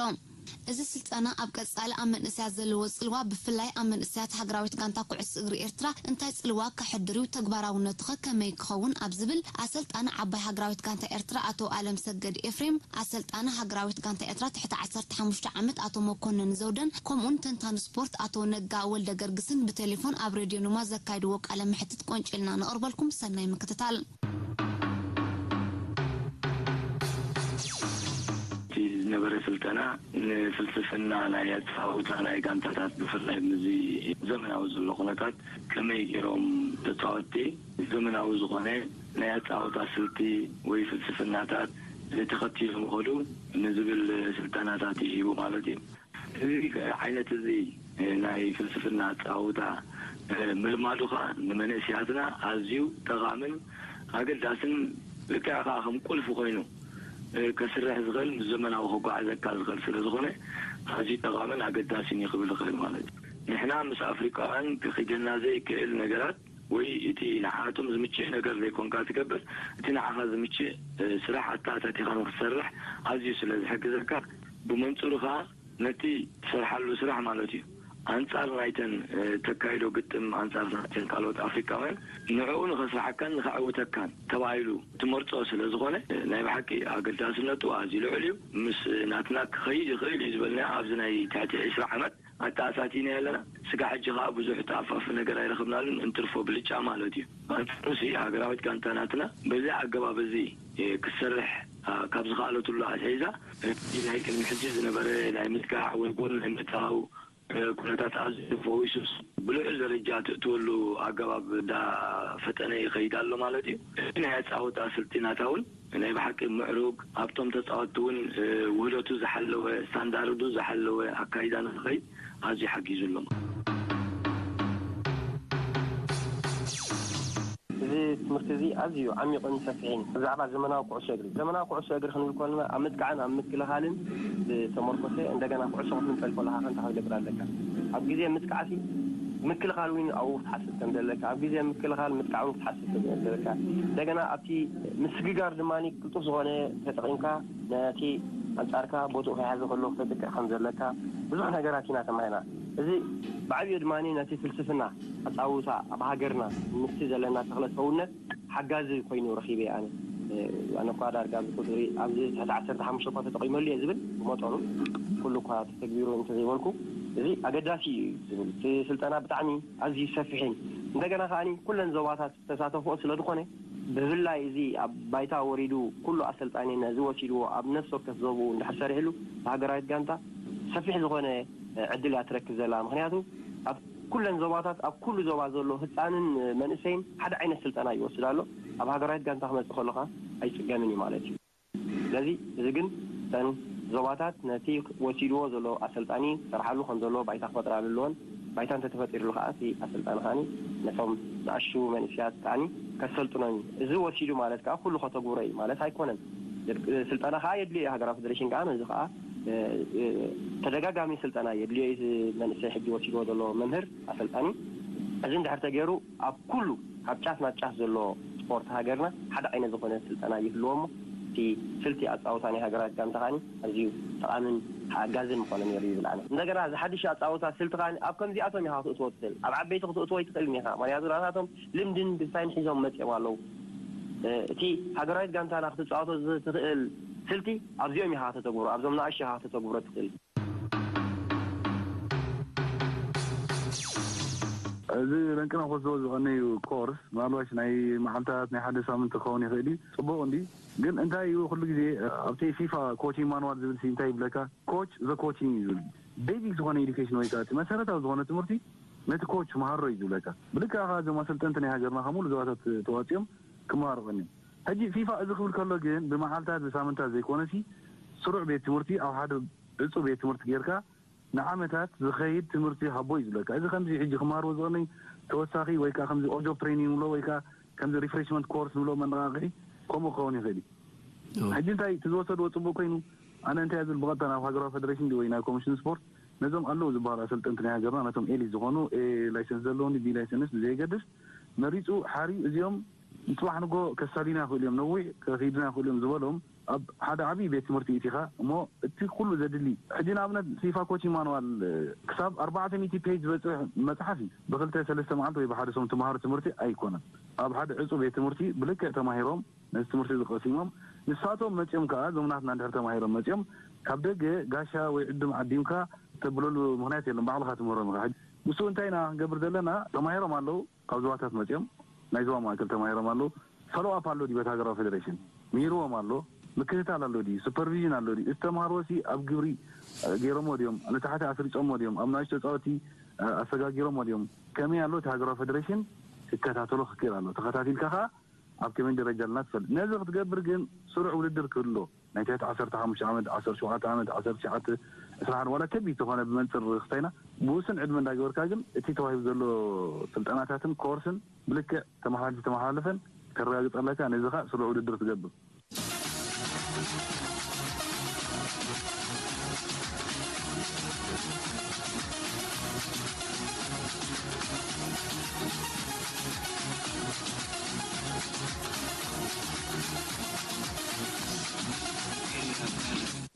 እዚ ስልጠና ኣብ ቀጻሊ ኣብ መንእሰያት ዘለዎ ጽልዋ ብፍላይ ኣብ መንእሰያት ሃገራዊት ጋንታ ኩዕሶ እግሪ ኤርትራ እንታይ ጽልዋ ከሕድር እዩ፣ ተግባራውነቱኸ ከመይ ክኸውን ኣብ ዝብል ኣሰልጣኒ ዓባይ ሃገራዊት ጋንታ ኤርትራ ኣቶ ኣለም ሰገድ ኤፍሬም፣ ኣሰልጣኒ ሃገራዊት ጋንታ ኤርትራ ትሕቲ ዓሰርተ ሓሙሽተ ዓመት ኣቶ መኮነን ዘውደን ከምኡን ተንታኒ ስፖርት ኣቶ ነጋ ወልደ ገርግስን ብቴሌፎን ኣብ ሬድዮ ኑማ ዘካይድዎ ቃለ መሕትት ቆንጭልና ነቕርበልኩም። ሰናይ ምክትታል። እቲ ዝነበረ ስልጠና ንፍልስፍና ናይ ኣጻውታ ናይ ጋንታታት ብፍላይ ምስዚ ዘመናዊ ዘሎ ኩነታት ከመይ ገይሮም ተጻወትቲ ዘመናዊ ዝኾነ ናይ ኣጻውታ ስልቲ ወይ ፍልስፍናታት ተኸቲሎም ይኸዱ ንዝብል ስልጠናታት እዩ ሂቡ ማለት እዩ። እዚ ዓይነት እዚ ናይ ፍልስፍና ኣጻውታ ምልማዱ ኸዓ ንመንእስያትና ኣዝዩ ጠቓምን ኣገዳስን ልክዕ ኸዓ ከም ቁልፊ ኮይኑ ከስርሕ ዝኽእል ምስ ዘመናዊ ከጓዓዘካ ዝኽእል ስለ ዝኾነ ኣዝዩ ጠቓምን ኣገዳስን እዩ ክብል ይኽእል ማለት እዩ። ንሕና ምስ ኣፍሪቃውያን ክኺደና ዘይክእል ነገራት ወይ እቲ ንዓኣቶም ዝምችእ ነገር ዘይኮንካ ትገብር፣ እቲ ንዓኻ ዝምችእ ስራሕ ኣተኣታቲኻ ንኽትሰርሕ ኣዝዩ ስለ ዝሕግዘካ፣ ብመንጽሩ ኸኣ ነቲ ትሰርሓሉ ስራሕ ማለት እዩ ኣንጻር ናይተን ተካይዶ ግጥም ኣንጻር ናይተን ካልኦት ኣፍሪቃውያን ንዕኡ ንኸስርሓካን ንኸዕውተካን ተባሂሉ ትመርጾ ስለ ዝኾነ ናይ ብሓቂ ኣገዳስነቱ ኣዝዩ ልዑል እዩ። ምስ ናትና ክኸይድ ይኽእል እዩ ዝበልናዮ ኣብዚ ናይ ትሕቲ ዕስራ ዓመት ኣተኣታቲና ኣለና። ስጋዕ ሕጂ ኸኣ ብዙሕ ተኣፋፊ ነገር ኣይረኸብናሉን እንትርፎ ብልጫ ማለት እዩ። ኣንጻሩሲ ሃገራዊት ጋንታ ናትና በዚ ኣገባብ እዚ ክትሰርሕ ካብ ዝኸኣለትሉ ኣትሒዛ እቲ ናይ ቅድሚ ሕጂ ዝነበረ ናይ ምጥቃዕ ወይ ጎል ናይ ምእታው ኩነታት ኣዝዩ ተፈዊሱስ ብልዑል ደረጃ ትእትወሉ ኣገባብ እንዳፈጠነ ይኸይድ ኣሎ ማለት እዩ። እቲ ናይ ኣጻወታ ስልቲ ናታ እውን ናይ ብሓቂ ምዕሩግ ኣብቶም ተጻወትቲ እውን ውህደቱ ዝሓለወ ስታንዳርዱ ዝሓለወ ኣካይዳ ንክኸይድ ኣዝዩ ሓጊዙ ኣሎ። እዚ ትምህርቲ እዚ ኣዝዩ ዓሚቕን ሰፊሕን ብዛዕባ ዘመናዊ ኩዕሶ እግሪ ዘመናዊ ኩዕሶ እግሪ ክንብል ከለና ኣብ ምጥቃዕን ኣብ ምክልኻልን ዝተመርኮሰ እንደገና ኩዕሶ ክትምንጠል ከለካ ከንታ ክትገብር ኣለካ ኣብ ግዜ ምጥቃዕሲ ምክልኻል እውን ኣብኡ ክትሓስብ ከም ዘለካ ኣብ ግዜ ምክልኻል ምጥቃዕ እውን ክትሓስብ ከም ዘለካ እንደገና ኣብቲ ምስግጋር ድማ ቅልጡፍ ዝኾነ ተጠቒምካ ነቲ ኣንጻርካ ቦትኡ ከይሓዘ ከሎ ክተጥቅዕ ከም ዘለካ ብዙሕ ነገራት ኢና ተማሂና። እዚ ብዓብዩ ድማ ነቲ ፍልስፍና ኣጻውታ ኣብ ሃገርና ምስቲ ዘለና ተኽለ ሰውነት ሓጋዚ ኮይኑ ረኺበ ኣነ። ኣነ እኳ ዳርጋ ኣብዚ ቁጽሪ ኣብዚ ትሕቲ ዓሰርተ ሓሙሽተ እኳ ተጠቒመሉ እየ ዝብል ብመጠኑ ኩሉ እኳ ተተግቢሩ እንተዘይበልኩ እዚ ኣገዳሲ እዩ ዝብል እቲ ስልጠና ብጣዕሚ ኣዝዩ ሰፊሕን እንደገና ከዓኒ ኩለን ዞባታት ዝተሳተፍኦ ስለ ዝኾነ ብፍላይ እዚ ኣብ ባይታ ወሪዱ ኩሉ ኣሰልጣኒ ነዚ ወሲድዎ ኣብ ነፍሲ ወከፍ ዞብኡ እንድሕር ሰሪሕሉ ብሃገራዊት ጋንታ ሰፊሕ ዝኾነ ዕድል እያ ትረክብ ዘላ። ምኽንያቱ ኣብ ኩለን ዞባታት ኣብ ኩሉ ዞባ ዘሎ ህፃንን መንእሰይን ሓደ ዓይነት ስልጠና ይወስድ ኣሎ። ኣብ ሃገራዊት ጋንታ ክመፅእ ከሎ ከዓ ኣይፅገምን እዩ ማለት እዩ። ስለዚ እዚ ግን እተን ዞባታት ነቲ ወሲድዎ ዘሎ ኣሰልጣኒ ክሰርሓሉ ከም ዘለዎ ባይታ ክፈጥራሉ ኣለወን። ባይታ እንተተፈጢሩሉ ከዓ እቲ ኣሰልጣኒ ከዓኒ ነቶም ዝኣሹ መንእሰያት ከዓኒ ከሰልጥኖም እዩ። እዚ ወሲዱ ማለት ከዓ ኩሉ ከተግብሮ እዩ ማለት ኣይኮነን። ስልጠና ከዓ የድልዮ እዩ። ሃገራዊ ፌደሬሽን ከዓ ነዚ ከዓ ተደጋጋሚ ስልጠና የድልዮ እዩ። መንእሰይ ሕጂ ወሲድዎ ዘሎ መምህር ኣሰልጣኒ እዚ እንድሕር ተገይሩ ኣብ ኩሉ ካብ ጫፍ ናብ ጫፍ ዘሎ ስፖርት ሃገርና ሓደ ዓይነት ዝኾነ ስልጠና ይህልዎ እሞ እቲ ስልቲ ኣፃውታ ናይ ሃገራት ጋንታ ከዓኒ ኣዝዩ ጠቓምን ሓጋዝን ምኾነ ነይሩ ይብል ኣነ። እንደገና እዚ ሓድሽ ኣፃውታ ስልቲ ከዓኒ ኣብ ከምዚኣቶም ኢኻ ክትእትዎ ትኽእል። ኣብ ዓበይቲ ክትእትዎ ኣይትኽእልን ኢኻ። ምክንያቱ ናታቶም ልምድን ግንሳይን ሒዞም መፂኦም ኣለዉ። እቲ ሃገራዊት ጋንታና ክትፃወቶ ዝትኽእል ስልቲ ኣብዚኦም ኢኻ ከተግብሮ፣ ኣብዞም ንኣሽቱ ኢኻ ከተግብሮ ትኽእል። እዚ ለንቅና ክወስድዎ ዝቐነዩ ኮርስ ምናልባሽ ናይ መዓልታት ናይ ሓደ ሳምንት ክኸውን ይኽእል እዩ። ጽቡቕ እንዲ ግን እንታይ እዩ ኩሉ ግዜ ኣብቲ ፊፋ ኮቺንግ ማንዋል ዝብል ሲ እንታይ ይብለካ? ኮች ዘ ኮቺንግ እዩ ዝብል ቤዚክ ዝኾነ ኤዱኬሽን ወይ ከዓ እቲ መሰረታዊ ዝኾነ ትምህርቲ ነቲ ኮች መሃሮ እዩ ዝብለካ። ብልክዕ ከዓ እዞም ኣሰልጠንቲ ናይ ሃገርና ከሙሉ ዞባታት ተዋፂኦም ክመሃሩ ቀኒዮም። ሕጂ ፊፋ እዚ ክብል ከሎ ግን ብመዓልታት ብሳምንታት ዘይኮነሲ ስሩዕ ቤት ትምህርቲ ኣብ ሓደ ዕፁ ቤት ትምህርቲ ጌርካ ንዓመታት ዝኸይድ ትምህርቲ ሃቦ እዩ ዝብለካ። እዚ ከምዚ ሕጂ ክመሃርዎ ዝቐነይ ተወሳኺ ወይ ከዓ ከምዚ ኦጆብ ትሬኒንግ ንብሎ ወይ ከዓ ከምዚ ሪፍሬሽመንት ኮርስ ንብሎ መነቃቕሒ ከምኡ ክኸውን ይኽእል እዩ። ሕጂ እንታይ እቲ ዝወሰድዎ ፅቡቅ ኮይኑ ኣነ እንታይ ዝብል ብቐጥታ ናብ ሃገራዊ ፌደሬሽን ወይ ናብ ኮሚሽን ስፖርት ነዞም ኣለዉ ዝበሃሉ ኣሰልጠንቲ ናይ ሃገርና ነቶም ኤሊት ዝኾኑ ኤ ላይሰንስ ዘለዎም ቢ ላይሰንስ ብዘየገድስ መሪፁ ሓርዩ እዚኦም ንፅባሕ ንጎ ከሳልዩና ይኽእሉ እዮም ነዊሕ ከኺዱና ይኽእሉ እዮም ዝበሎም ኣብ ሓደ ዓብዪ ቤት ትምህርቲ ኢቲኻ እሞ እቲ ኩሉ ዘድሊ ሕጂ ንኣብነት ፊፋ ኮች ማንዋል ክሳብ ኣርባዕተ ሚእቲ ፔጅ ዝበፅሕ መፅሓፍ እዩ ብክልተ ሰለስተ መዓልቲ ወይ ብሓደ ሰሙን ትምሃሮ ትምህርቲ ኣይኮነን ኣብ ሓደ ዕፁ ቤት ትምህርቲ ብልክዕ ተማሂሮም ነዚ ትምህርቲ እዚ ቀሲሞም ንሳቶም መፂኦም ከዓ እዞም ናትና እንድሕር ተማሂሮም መፂኦም ካብ ደገ ጋሻ ወይ ዕዱም ዓዲምካ ተብለሉ ምክንያት የለን ባዕልካ ትምህሮም ኢካ ሕጂ ንሱ እንታይ ኢና ክንገብር ዘለና ተማሂሮም ኣለዉ ካብ ዞባታት መፂኦም ናይ ዞባ ማእከል ተማሂሮም ኣለዉ ፎሎኣፕ ኣሎ ድዩ በቲ ሃገራዊ ፌደሬሽን ምሂርዎም ኣሎ ምክትታል ኣሎ ድዩ ሱፐርቪዥን ኣሎ ድዩ እቲ ተምሃርዎ ሲ ኣብ ግብሪ ገይሮሞ ድዮም ንታሕቲ ኣስሪፆሞ ድዮም ኣብ ናእሽቶ ተፃወቲ ኣሰጋጊሮሞ ድዮም ከመይ ኣሎ እቲ ሃገራዊ ፌደሬሽን ክከታተሎ ክክእል ኣሎ ተኸታቲልካ ከዓ ኣብ ከመይ ደረጃ ኣለና ትፈልጥ ነዚ ክትገብር ግን ስሩዕ ውድድር ክህሎ ናይ ትሕቲ ዓሰርተ ሓሙሽተ ዓመት ዓሰርተ ሸውዓተ ዓመት ዓሰርተ ትሽዓተ ዕስራ ሓደ ዋላ ከቢድ ተኾነ ብመንፅር ርኽስታይና ብውሱን ዕድመ እንዳገበርካ ግን እቲ ተዋሂቡ ዘሎ ስልጠናታትን ኮርስን ብልክዕ ተመሓላልፊ ተመሓላለፈን ከረጋግፅ ኣለካ ነዚ ከዓ ስሩዕ ውድድር ትገብር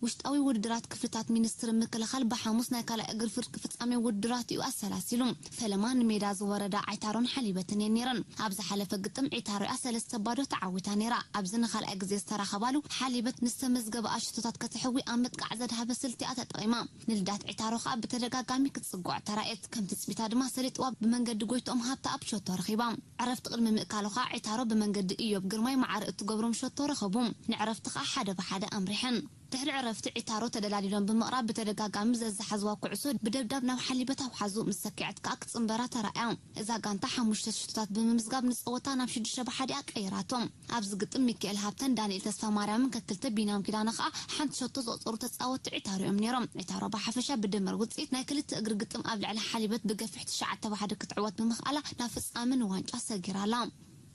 ውሽጣዊ ውድድራት ክፍልታት ሚኒስትሪ ምክልኻል ብሓሙስ ናይ ካልኣይ እግሪ ፍርቂ ፍጻሜ ውድድራት እዩ ኣሰላሲሉ። ፈለማ ንሜዳ ዝወረዳ ዓይታሮን ሓሊበትን እየን ነይረን። ኣብ ዝሓለፈ ግጥም ዒታሮ እያ ሰለስተ ባዶ ተዓዊታ ነይራ። ኣብዚ ንኻልኣይ ግዜ ዝተራኸባሉ ሓሊበት ንዝተመዝገበኣ ሽቶታት ከተሕዊ ኣብ ምጥቃዕ ዘድሃበ ስልቲ እያ ተጠቒማ። ንልዳት ዒታሮ ከኣ ብተደጋጋሚ ክትጽግዖ ተራእየት። ከም ትጽቢታ ድማ ሰሊጥዋ ብመንገዲ ጎይትኦም ሃብተኣብ ሸቶ ረኺባ። ዕረፍቲ ቅድሚ ምእካሉ ከኣ ዒታሮ ብመንገዲ እዮብ ግርማይ ማዕረ እትገብሮም ሸቶ ረኸቡ። ንዕረፍቲ ከኣ ሓደ ብሓደ ኣምሪሐን። ድሕሪ ዕረፍቲ ዒታሮ ተደላዲሎም ብምቕራብ ብተደጋጋሚ ዘዝሓዝዋ ኩዕሶ ብደብዳብ ናብ ሓሊበት ኣውሓዙ ምስ ሰኪዐት ከኣ ክጽንበራ ተራእያ። እዛ ጋንታ ሓሙሽተ ሽቶታት ብምምዝጋብ ንጸወታ ናብ ሽዱሽተ ብሓደ እያ ቀይራቶ። ኣብዚ ግጥም ሚኪኤል ሃብተን ዳንኤል ተስፋማርያምን ከክልተ ቢንያም ኪዳነ ከኣ ሓንቲ ሸቶ ዘቑጸሩ ተጻወትቲ ዒታሮ እዮም ነይሮም። ዒታሮ ብሓፈሻ ብድምር ውጽኢት ናይ ክልተ እግሪ ግጥም ኣብ ልዕሊ ሓሊበት ብገፊሕ ትሽዓተ ብሓደ ክትዕወት ብምኽኣላ ናብ ፍጻመ ንዋንጫ ሰጊራ ኣላ።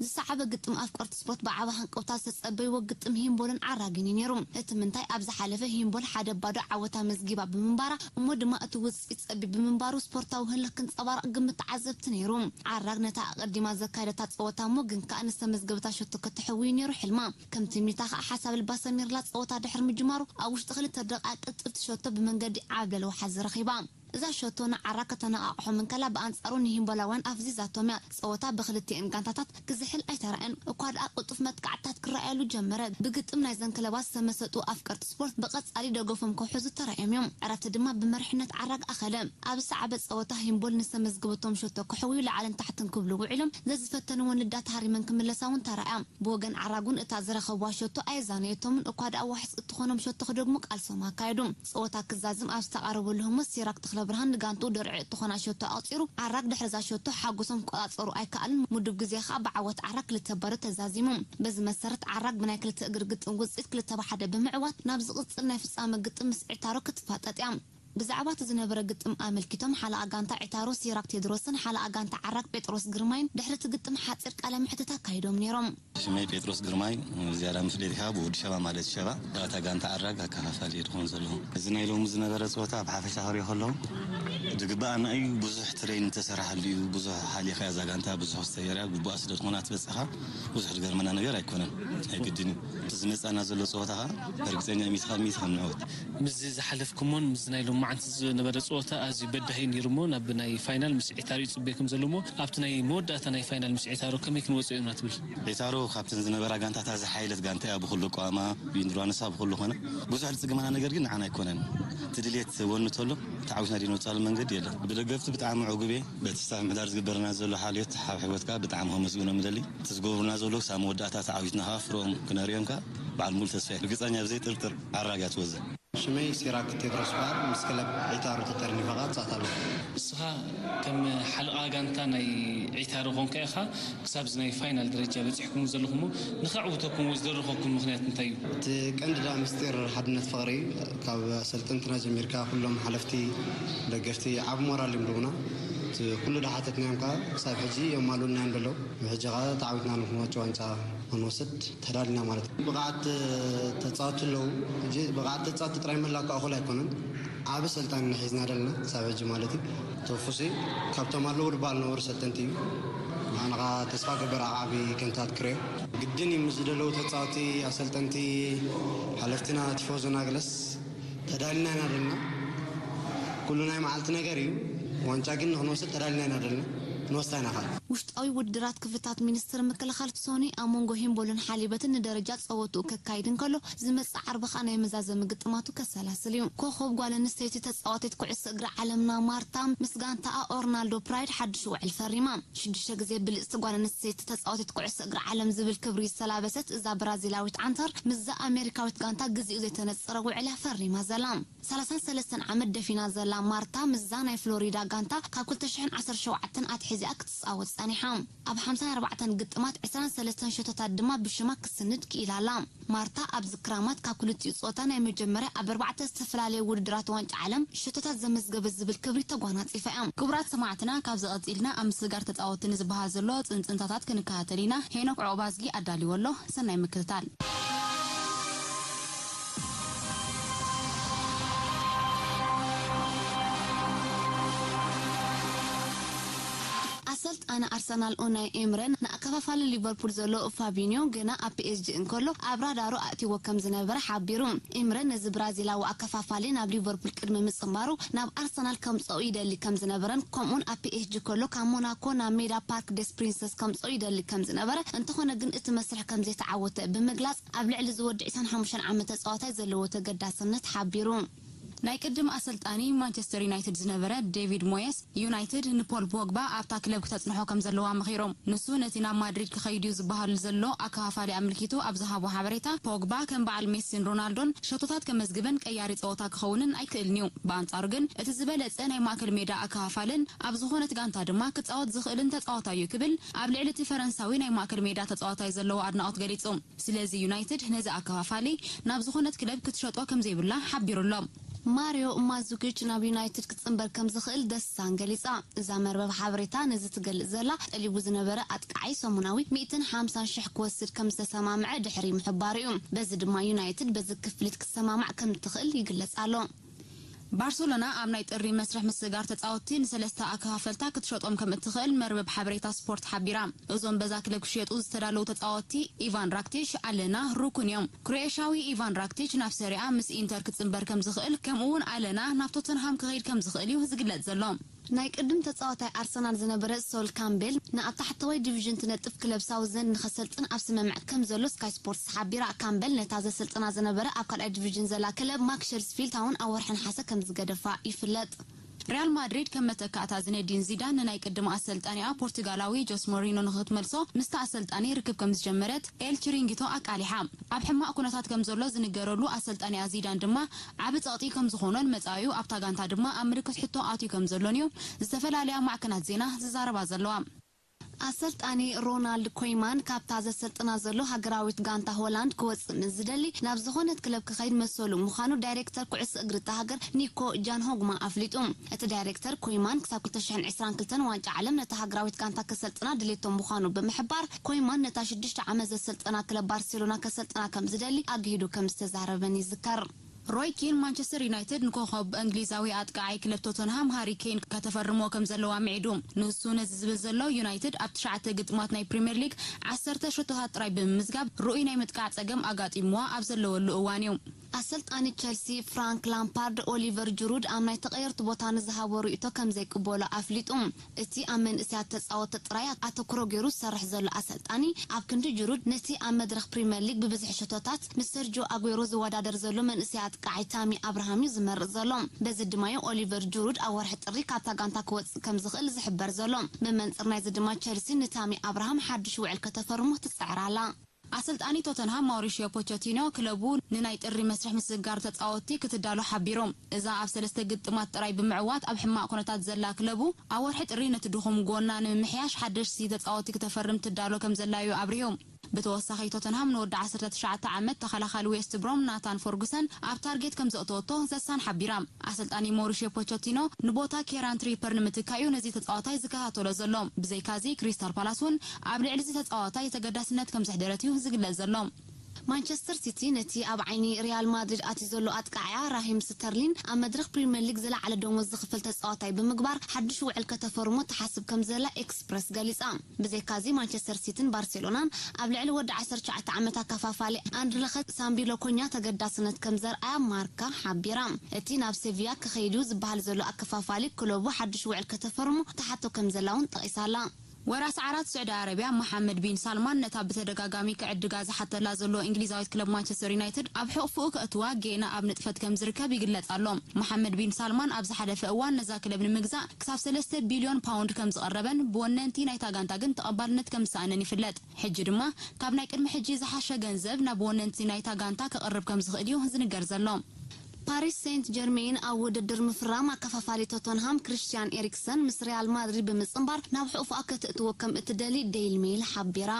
ዝሰዓበ ግጥም ኣፍቀርቲ ስፖርት ብዓቢ ሃንቀውታ ዝተጸበይዎ ግጥም ሂምቦልን ዓራጊን እዩ ነይሩ። እቲ ምንታይ ኣብ ዝሓለፈ ሂምቦል ሓደ ባዶ ዓወት ኣመዝጊባ ብምንባራ እሞ ድማ እቲ ውጽኢት ጸቢብ ብምንባሩ ስፖርታዊ ህልኽ ክንጸባረቕ ግምት ተዓዘብቲ ነይሩ። ዓራግ ነታ ኣቐዲማ ዘካየደታ ጸወታ እሞ ግን ከኣ ንዝተመዝገበታ ሸቶ ከተሕዊ እዩ ነይሩ ሕልማ። ከም ትምኒታ ከኣ ሓሳብ ልባ ሰሚርላ ጸወታ ድሕሪ ምጅማሩ ኣብ ውሽጢ ክልተ ደቂቃ ቅልጥፍቲ ሸቶ ብመንገዲ ዓብለል ወሓዚ ረኺባ። እዛ ሸቶ ንዓራግ ከተነቓቕሖም እንከላ ብኣንጻሩ ንሂምቦላውያን ኣፍዚዛቶም እያ። ጸወታ ብክልቲኤን ጋንታታት ክዝሕል ኣይተራእየን እኳ ደኣ ቅልጡፍ መጥቃዕትታት ክረኣየሉ ጀመረ። ብግጥም ናይዘን ክለባት ዝተመሰጡ ኣፍቀርቲ ስፖርት ብቐጻሊ ደገፎም ከውሕዙ ተራእዮም እዮም። ዕረፍቲ ድማ ብመሪሕነት ዓራግ ኣኸለ። ኣብ ዝሰዓበ ጸወታ ሂምቦል ንዝተመዝገበቶም ሸቶ ከሕውዩ ላዕልን ታሕትን ክብሉ ውዒሎም ዘዝፈተንወን ልዳት ሃሪመን ክምለሳ እውን ተራእያ። ብወገን ዓራግ እውን እታ ዝረኸብዋ ሸቶ ኣየዛነየቶምን እኳ ደኣ ዋሕስ እትኾኖም ሸቶ ክደግሙ ቃልሶም ኣካየዱ። ጸወታ ክዛዝም ኣብ ዝተቓረበሉ ህሞት ሲራክ ተኽለብርሃን ንጋንትኡ ድርዒ እትኾና ሸቶ ኣቑጺሩ ዓራግ ድሕሪ እዛ ሸቶ ሓጎሶም ክቆጻጸሩ ኣይከኣሉን ምዱብ ግዜ ከኣ ብዓወት ዓራግ ክልተ ባዶ ተዛዚሙ። በዚ መሰረት ዓራግ ብናይ ክልተ እግሪ ግጥም ውጽኢት ክልተ ብ ሓደ ብምዕዋት ናብ ዝቕጽል ናይ ፍጻመ ግጥም ምስ ዒታሮ ክትፋጠጥ እያ። ብዛዕባ እቲ ዝነበረ ግጥም ኣመልኪቶም ሓለቓ ጋንታ ዒታሮ ሲራክ ቴድሮስን ሓለቓ ጋንታ ዓራግ ጴጥሮስ ግርማይን ድሕሪ እቲ ግጥም ሓጺር ቃለ መሕትት ኣካይዶም ነይሮም። ሽመይ ጴጥሮስ ግርማይ ዝያዳ ምስ ደሊኻ ብወዲ ሸባ ማለት ሸባ እታ ጋንታ ዓራግ ኣከፋፋሊ እየ ድኾን ዘለኹ። እዚ ናይ ሎሚ ዝነበረ ፀወታ ብሓፈሻ ክሪኦ ከለኹ ዝግባኣና እዩ። ብዙሕ ትሬን ተሰራሓሉ እዩ። ብዙሕ ሓሊኻ እዛ ጋንታ ብዙሕ ክስተየር እያ። ግቡኣ ስለ ዝኾነ ኣትበፅኻ ብዙሕ ዝገርመና ነገር ኣይኮነን። ኣይግድን እዩ። እቲ ዝመፃና ዘሎ ፀወታ ከዓ እርግፀኛ ሚትኻ ሚት ከም ንዕወት ምስዚ ዝሓለፍኩሞን ምስዚ ናይ ሎሚ መዓንቲ ዝነበረ ፀወታ ኣዝዩ በዳሂ ነይሩ እሞ ናብ ናይ ፋይናል ምስ ዒታሮ ይፅበየኩም ዘሎ እሞ ኣብቲ ናይ መወዳእታ ናይ ፋይናል ምስ ዒታሮ ከመይ ክንወፅኦ ኢና ትብል? ዒታሮ ካብተን ዝነበራ ጋንታታት ዝሓየለት ጋንታ እያ። ብኩሉ ኣቋማ ብኢንዱራንሳ ብኩሉ ኮነ ብዙሕ ዝፅግመና ነገር ግን ንዓና ኣይኮነን። እቲ ድሌት ወኒ ተሎ ተዓዊትና ዲኖ ፃሉ መንገዲ የለን። ብደገፍቲ ብጣዕሚ ዕጉብ እየ። በቲ ስታፍ ምሕዳር ዝግበረና ዘሎ ሓልዮት ሓብሕቦት ከዓ ብጣዕሚ ከመስግኖም ይደሊ። እቲ ዝገብሩና ዘለዉ ክሳብ መወዳእታ ተዓዊትና ከዓ ፍርኦም ክነርእዮም ከዓ በዓል ሙሉ ተስፋ እየ። ርግፀኛ ብዘይ ጥርጥር ኣራግያ ትወዘ። ሽመይ ሲራክ ቴድሮስ በሃል። ምስ ክለብ ዒታሮ ተጠርኒፈ ከዓ እፃወት ኣለኹ። ንስኻ ከም ሓለቓ ጋንታ ናይ ዒታሮ ኮንካ ኢኻ ክሳብ እዚ ናይ ፋይናል ደረጃ በፂሕኩም ዘለኹም እሞ ንኸዕውተኩም ወይ ዝደረኸኩም ምኽንያት እንታይ እዩ? እቲ ቀንዲ ዳ ምስጢር ሓድነት ፍቕሪ እዩ። ካብ ኣሰልጠንትና ጀሚርካ ኩሎም ሓለፍቲ ደገፍቲ ዓብ ሞራል እዮም ዶና። እቲ ኩሉ ዳሓተትናዮም ከዓ ክሳብ ሕጂ የማሉና እዮም ደለዉ። ብሕጂ ከዓ ተዓዊትና ንክንወጭ ዋንጫ ክንወስድ ተዳሊና ማለት እዩ። ብቕዓት ተፃወቲ ኣለዉ። ሕጂ ብቕዓት ተፃወቲ ጥራይ ምህላው ከዓ እኹል ኣይኮነን። ዓብ ሰልጣን ንሒዝና ደለና ክሳብ ሕጂ ማለት እዩ። ተፉሲ ካብቶም ኣለዉ ዝበሃል ነበሩ ሰልጠንቲ እዩ። ንዓና ከዓ ተስፋ ገበር ዓቢ ከንታት ክርዮ ግድን እዩ። ምስ ዝደለዉ ተፃወቲ ኣሰልጠንቲ ሓለፍትና ቲፎዞና ገለስ ተዳሊና ኢና ደለና። ኩሉ ናይ መዓልቲ ነገር እዩ። ዋንጫ ግን ንክንወስድ ተዳሊና ኢና ደለና። ክንወስዳ ኢና ኻል ውሽጣዊ ውድድራት ክፍታት ሚኒስትር ምክልኻል ሶኒ ኣብ መንጎ ሂምቦልን ሓሊበትን ንደረጃ ጸወትኡ ከካይድ እንከሎ ዝመጽእ ዓርቢ ኸኣ ናይ መዛዘሚ ግጥማቱ ከሰላስል እዩ። ኮኾብ ጓል ኣንስተይቲ ተጻዋቲት ኩዕሶ እግሪ ዓለምና ማርታ ምስ ጋንታኣ ኦርናልዶ ፕራይድ ሓድሽ ውዕል ፈሪማ። ሽዱሽተ ግዜ ብልጽቲ ጓል ኣንስተይቲ ተጻዋቲት ኩዕሶ እግሪ ዓለም ዝብል ክብሪ ዝተላበሰት እዛ ብራዚላዊት ዓንተር ምስዛ ኣሜሪካዊት ጋንታ ግዚኡ ዘይተነጸረ ውዕል እያ ፈሪማ ዘላ። ሰላሳን ሰለስተን ዓመት ደፊና ዘላ ማርታ ምስዛ ናይ ፍሎሪዳ ጋንታ ካብ ክልተ ሽሕን ዓሰርተ ሸውዓተን ኣትሒዚኣ ክትጻወት ጸኒሓ። ኣብ ሓምሳን ኣርባዕተን ግጥማት ዕስራን ሰለስተን ሸቶታት ድማ ብሽማ ክትስንድ ክኢላ ኣላ። ማርታ ኣብዚ ክራማት ካብ ክልቲኡ ጾታ ናይ መጀመርያ ኣብ ኣርባዕተ ዝተፈላለየ ውድድራት ዋንጫ ዓለም ሸቶታት ዘመዝገበት ዝብል ክብሪ ተጓናጺፋ እያ። ክቡራት ሰማዕትና፣ ካብዚ ቀጺልና ኣብ ምስግጋር ተጻወትቲ ንዝበሃል ዘሎ ጽንጽንታታት ክንከታተል ኢና። ሄኖክ ዑቕባዝጊ ኣዳልዎ ኣሎ። ሰናይ ምክትታል። ኣሰልጣኒ ኣርሰናል ኡናይ ኤምረን ንኣከፋፋሊ ሊቨርፑል ዘሎ ፋቢኒዮ ገና ኣብ ፒኤስጂ እንከሎ ኣብ ራዳሩ ኣእትይዎ ከም ዝነበረ ሓቢሩ። ኤምረን ነዚ ብራዚላዊ ኣከፋፋሊ ናብ ሊቨርፑል ቅድሚ ምጽንባሩ ናብ ኣርሰናል ከምጽኦ ይደሊ ከም ዝነበረን ከምኡውን ኣብ ፒኤስጂ ከሎ ካብ ሞናኮ ናብ ሜዳ ፓርክ ደስ ፕሪንሰስ ከምጽኦ ይደሊ ከም ዝነበረ እንተኾነ ግን እቲ መስርሕ ከም ዘይተዓወተ ብምግላጽ ኣብ ልዕሊ ዝወዲ ዕስራን ሓሙሽተን ዓመት ተጻዋታይ ዘለዎ ተገዳስነት ሓቢሩ። ናይ ቅድም ኣሰልጣኒ ማንቸስተር ዩናይትድ ዝነበረ ዴቪድ ሞየስ፣ ዩናይትድ ንፖል ፖግባ ኣብታ ክለብ ክተጽንሖ ከም ዘለዋ መኺሮም። ንሱ ነቲ ናብ ማድሪድ ክኸይድ እዩ ዝበሃል ዘሎ ኣከፋፋሊ ኣመልኪቱ ኣብ ዝሃቦ ሓበሬታ፣ ፖግባ ከም በዓል ሜሲን ሮናልዶን ሸቶታት ከመዝግብን ቀያሪ ጸወታ ክኸውንን ኣይክእልን እዩ። ብኣንጻሩ ግን እቲ ዝበለጸ ናይ ማእከል ሜዳ ኣከፋፋልን ኣብ ዝኾነት ጋንታ ድማ ክጻወት ዝኽእልን ተጻዋታይ እዩ ክብል ኣብ ልዕሊ እቲ ፈረንሳዊ ናይ ማእከል ሜዳ ተጻዋታይ ዘለዎ ኣድናቖት ገሊጹ። ስለዚ ዩናይትድ ነዚ ኣከፋፋሊ ናብ ዝኾነት ክለብ ክትሸጦ ከምዘይብላ ሓቢሩ ኣሎ። ማሪዮ ማዙኪች ናብ ዩናይትድ ክጽንበር ከም ዝኽእል ደስታን ገሊጻ። እዛ መርበብ ሓበሬታ ነዚ ትገልጽ ዘላ ጠሊቡ ዝነበረ ኣጥቃዓይ ሰሙናዊ ሚእትን ሓምሳን ሽሕ ክወስድ ከም ዝተሰማምዐ ድሕሪ ምሕባሩ እዩ። በዚ ድማ ዩናይትድ በዚ ክፍሊት ክትሰማማዕ ከም ትኽእል ይግለጽ ኣሎ። ባርሰሎና ኣብ ናይ ጥሪ መስርሕ ምስግጋር ተጻወትቲ ንሰለስተ ኣከፋፈልታ ክትሸጦም ከም እትኽእል መርበብ ሓበሬታ ስፖርት ሓቢራ። እዞም በዛ ክለብ ክሽየጡ ዝተዳለዉ ተጻወትቲ ኢቫን ራክቲሽ፣ ኣለና፣ ሩኩን እዮም። ክሮኤሽያዊ ኢቫን ራክቲች ናብ ሰሪኣ ምስ ኢንተር ክጽንበር ከም ዝኽእል ከምኡ እውን ኣለና ናብ ቶተንሃም ክኸይድ ከም ዝኽእል እዩ ዝግለጽ ዘሎ። ናይ ቅድም ተጻዋታይ ኣርሰናል ዝነበረ ሶል ካምቤል ንኣብ ታሕተዋይ ዲቪዥን ትነጥፍ ክለብ ሳውዘን ንኸሰልጥን ኣብ ስምምዕ ከም ዘሎ ስካይ ስፖርትስ ሓቢራ። ካምበል ነታ ዘሰልጥና ዝነበረ ኣብ ካልኣይ ዲቪዥን ዘላ ክለብ ማክሸልስፊልድ ታውን ኣብ ወርሒ ነሓሰ ከም ዝገደፋ ይፍለጥ። ሪያል ማድሪድ ከም መተካእታ ዝነዲን ዚዳን ንናይ ቅድም ኣሰልጣኒኣ ፖርቱጋላዊ ጆስ ሞሪኖ ንኽትመልሶ ምስቲ ኣሰልጣኒ ርክብ ከም ዝጀመረት ኤል ቺሪንጊቶ ኣቃሊሓ። ኣብ ሕማቕ ኩነታት ከም ዘሎ ዝንገረሉ ኣሰልጣኒኣ ዚዳን ድማ ዓቢ ጸቕጢ ከም ዝኾኖን መጻኢኡ ኣብታ ጋንታ ድማ ኣብ ምልክት ሕቶ ኣትዩ ከም ዘሎን እዩ ዝተፈላለያ ማዕከናት ዜና ዝዛረባ ዘለዋ። ኣሰልጣኒ ሮናልድ ኮይማን ካብታ ዘሰልጥና ዘሎ ሃገራዊት ጋንታ ሆላንድ ክወጽእ ምስ ዝደሊ ናብ ዝኾነት ክለብ ክኸይድ መሰሉ ምዃኑ ዳይሬክተር ኩዕሶ እግሪ እታ ሃገር ኒኮ ጃንሆግማ ኣፍሊጡ። እቲ ዳይሬክተር ኮይማን ክሳብ ክልተ ሽሕን ዕስራን ክልተን ዋንጫ ዓለም ነታ ሃገራዊት ጋንታ ከሰልጥና ድሌቶም ምዃኑ ብምሕባር ኮይማን ነታ ሽዱሽተ ዓመት ዘሰልጠና ክለብ ባርሴሎና ከሰልጥና ከም ዝደሊ ኣግሂዱ ከም ዝተዛረበን ይዝከር። ሮይ ኪን ማንቸስተር ዩናይትድ ንኮኸብ እንግሊዛዊ ኣጥቃዓይ ክለብ ቶተንሃም ሃሪ ኬን ከተፈርሞ ከም ዘለዋ ምዒዱ። ንሱ ነዚ ዝብል ዘሎ ዩናይትድ ኣብ ትሽዓተ ግጥማት ናይ ፕሪምየር ሊግ ዓሰርተ ሸቶታት ጥራይ ብምምዝጋብ ርኡይ ናይ ምጥቃዕ ጸገም ኣጋጢምዋ ኣብ ዘለወሉ እዋን እዩ። ኣሰልጣኒ ቸልሲ ፍራንክ ላምፓርድ ኦሊቨር ጅሩድ ኣብ ናይ ተቐየርቲ ቦታ ንዝሃቦ ርእይቶ ከም ዘይቅበሎ ኣፍሊጡ። እቲ ኣብ መንእሰያት ተጻወቲ ጥራይ ኣተኩሮ ገይሩ ዝሰርሕ ዘሎ ኣሰልጣኒ፣ ኣብ ክንዲ ጅሩድ ነቲ ኣብ መድረኽ ፕሪምየር ሊግ ብብዝሒ ሸቶታት ምስ ሰርጂዮ ኣጉዌሮ ዝወዳደር ዘሎ መንእሰይ ኣጥቃዓይ ታሚ ኣብርሃም እዩ ዝመርጽ ዘሎ። በዚ ድማ እዩ ኦሊቨር ጅሩድ ኣብ ወርሒ ጥሪ ካብታ ጋንታ ክወጽእ ከም ዝኽእል ዝሕበር ዘሎ። ብመንጽር ናይዚ ድማ ቸልሲ ንታሚ ኣብርሃም ሓድሽ ውዕል ከተፈርሞ ትጽዕር ኣላ። ኣሰልጣኒ ቶተንሃም ማውሪሽዮ ፖቸቲኖ ክለቡ ንናይ ጥሪ መስርሕ ምስግጋር ተጻወትቲ ክትዳሎ ሓቢሩ። እዛ ኣብ ሰለስተ ግጥማት ጥራይ ብምዕዋት ኣብ ሕማቕ ኩነታት ዘላ ክለቡ፣ ኣብ ወርሒ ጥሪ ነቲ ድኹም ጎና ንምምሕያሽ ሓደሽቲ ተጻወትቲ ክተፈርም ትዳሎ ከም ዘላ እዩ ኣብሪሁ። ብተወሳኺ ቶተንሃም ንወዲ ዓሰርተ ትሽዓተ ዓመት ተኸላኻሊ ዌስት ብሮም ናታን ፈርጉሰን ኣብ ታርጌት ከም ዘእተወቶ ዘሳን ሓቢራ። ኣሰልጣኒ ማውሪሽዮ ፖቸቲኖ ንቦታ ኬራን ትሪፐር ንምትካእ እዩ ነዚ ተጻዋታይ ዝከታተሎ ዘሎ። ብዘይካዚ ክሪስታል ፓላስ እውን ኣብ ልዕሊ እዚ ተጻዋታይ ተገዳስነት ከም ዘሕደረት እዩ ዝግለጽ ዘሎ። ማንቸስተር ሲቲ ነቲ ኣብ ዓይኒ ሪያል ማድሪድ ኣትዩ ዘሎ ኣጥቃዕያ ራሂም ስተርሊን ኣብ መድረኽ ፕሪምየር ሊግ ዝለዓለ ደሞዝ ዝኽፍል ተጻዋታይ ብምግባር ሓድሽ ውዕል ከተፈርሞ ትሓስብ ከም ዘላ ኤክስፕረስ ገሊጻ። ብዘይካዚ ማንቸስተር ሲቲን ባርሴሎናን ኣብ ልዕሊ ወዲ ዓሰርተ ትሽዓተ ዓመት ኣከፋፋሊ ኣንድረኸ ሳምቢሎኮኛ ተገዳስነት ከም ዘርኣያ ማርካ ሓቢራ። እቲ ናብ ሴቪያ ክኸይድ እዩ ዝበሃል ዘሎ ኣከፋፋሊ ክለቡ ሓድሽ ውዕል ከተፈርሞ ትሓቶ ከም ዘላ እውን ጠቒሳላ። ወራስ ዓራት ስዑዲ ኣረብያ መሓመድ ቢን ሳልማን ነታ ብተደጋጋሚ ክዕድጋ ዝሓተላ ዘሎ እንግሊዛዊት ክለብ ማንቸስተር ዩናይትድ ኣብ ሕቕፍኡ ከእትዋ ጌና ኣብ ንጥፈት ከም ዝርከብ ይግለጽ ኣሎ። መሓመድ ቢን ሳልማን ኣብ ዝሓለፈ እዋን ነዛ ክለብ ንምግዛእ ክሳብ ሰለስተ ቢልዮን ፓውንድ ከም ዝቐረበን ብወነንቲ ናይታ ጋንታ ግን ተቐባልነት ከም ዝሰኣነን ይፍለጥ። ሕጂ ድማ ካብ ናይ ቅድሚ ሕጂ ዝሓሸ ገንዘብ ናብ ወነንቲ ናይታ ጋንታ ክቕርብ ከም ዝኽእል እዩ ዝንገር ዘሎ። ፓሪስ ሴንት ጀርሜን ኣብ ውድድር ምፍራም ኣከፋፋሊ ቶተንሃም ክሪስቲያን ኤሪክሰን ምስ ሪያል ማድሪድ ብምጽንባር ናብ ሕቑፍኣ ከተእትዎ ከም እትደሊ ዴይሊ ሜይል ሓቢራ።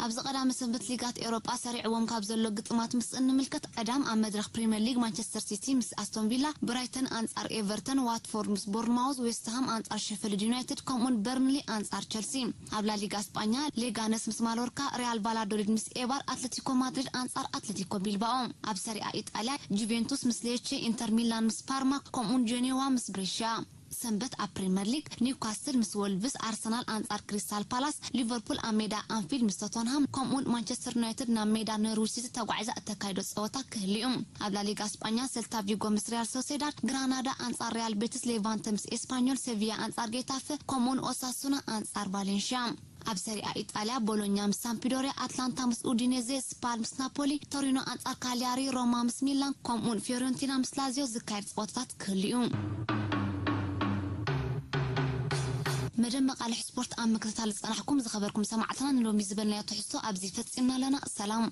ኣብዚ ቀዳመ ሰንበት ሊጋት ኤውሮጳ ሰሪዕዎም ካብ ዘሎ ግጥማት ምስ እንምልከት፣ ቀዳም ኣብ መድረኽ ፕሪምየር ሊግ ማንቸስተር ሲቲ ምስ ኣስቶን ቪላ፣ ብራይተን ኣንጻር ኤቨርተን፣ ዋትፎርድ ምስ ቦርንማውዝ፣ ዌስትሃም ኣንጻር ሸፈልድ ዩናይትድ፣ ከምኡውን በርንሊ ኣንጻር ቸልሲ። ኣብ ላሊጋ ስጳኛ ሌጋነስ ምስ ማሎርካ፣ ሪያል ቫላዶሊድ ምስ ኤባር፣ ኣትለቲኮ ማድሪድ ኣንጻር ኣትለቲኮ ቢልባኦ። ኣብ ሰሪኣ ኢጣልያ ጁቬንቱስ ምስ ሌቼ፣ ኢንተር ሚላን ምስ ፓርማ፣ ከምኡውን ጄኔዋ ምስ ብሬሽያ። ሰንበት ኣብ ፕሪምየር ሊግ ኒውካስትል ምስ ወልቭስ፣ ኣርሰናል ኣንጻር ክሪስታል ፓላስ፣ ሊቨርፑል ኣብ ሜዳ ኣንፊልድ ምስ ቶተንሃም፣ ከምኡውን ማንቸስተር ዩናይትድ ናብ ሜዳ ኖርዊች ሲቲ ተጓዒዛ እተካይዶ ጸወታ ክህልዩ። ኣብ ላሊጋ ስጳኛ ሴልታ ቪጎ ምስ ሪያል ሶሴዳድ፣ ግራናዳ ኣንጻር ሪያል ቤቲስ፣ ሌቫንተ ምስ ኤስፓኞል፣ ሴቪያ ኣንጻር ጌታፈ፣ ከምኡውን ኦሳሱና ኣንጻር ቫሌንሽያ። ኣብ ሰሪኣ ኢጣልያ ቦሎኛ ምስ ሳምፒዶሪያ፣ ኣትላንታ ምስ ኡዲኔዜ፣ ስፓል ምስ ናፖሊ፣ ቶሪኖ ኣንጻር ካሊያሪ፣ ሮማ ምስ ሚላን፣ ከምኡውን ፊዮረንቲና ምስ ላዚዮ ዝካየድ ጸወታታት ክህልዩ። መደብ መቃልሕ ስፖርት ኣብ ምክትታል ዝጸናሕኩም ዝኸበርኩም ሰማዕትና፣ ንሎሚ ዝበልናዮ ትሕዝቶ ኣብዚ ፈጺምና ኣለና። ሰላም።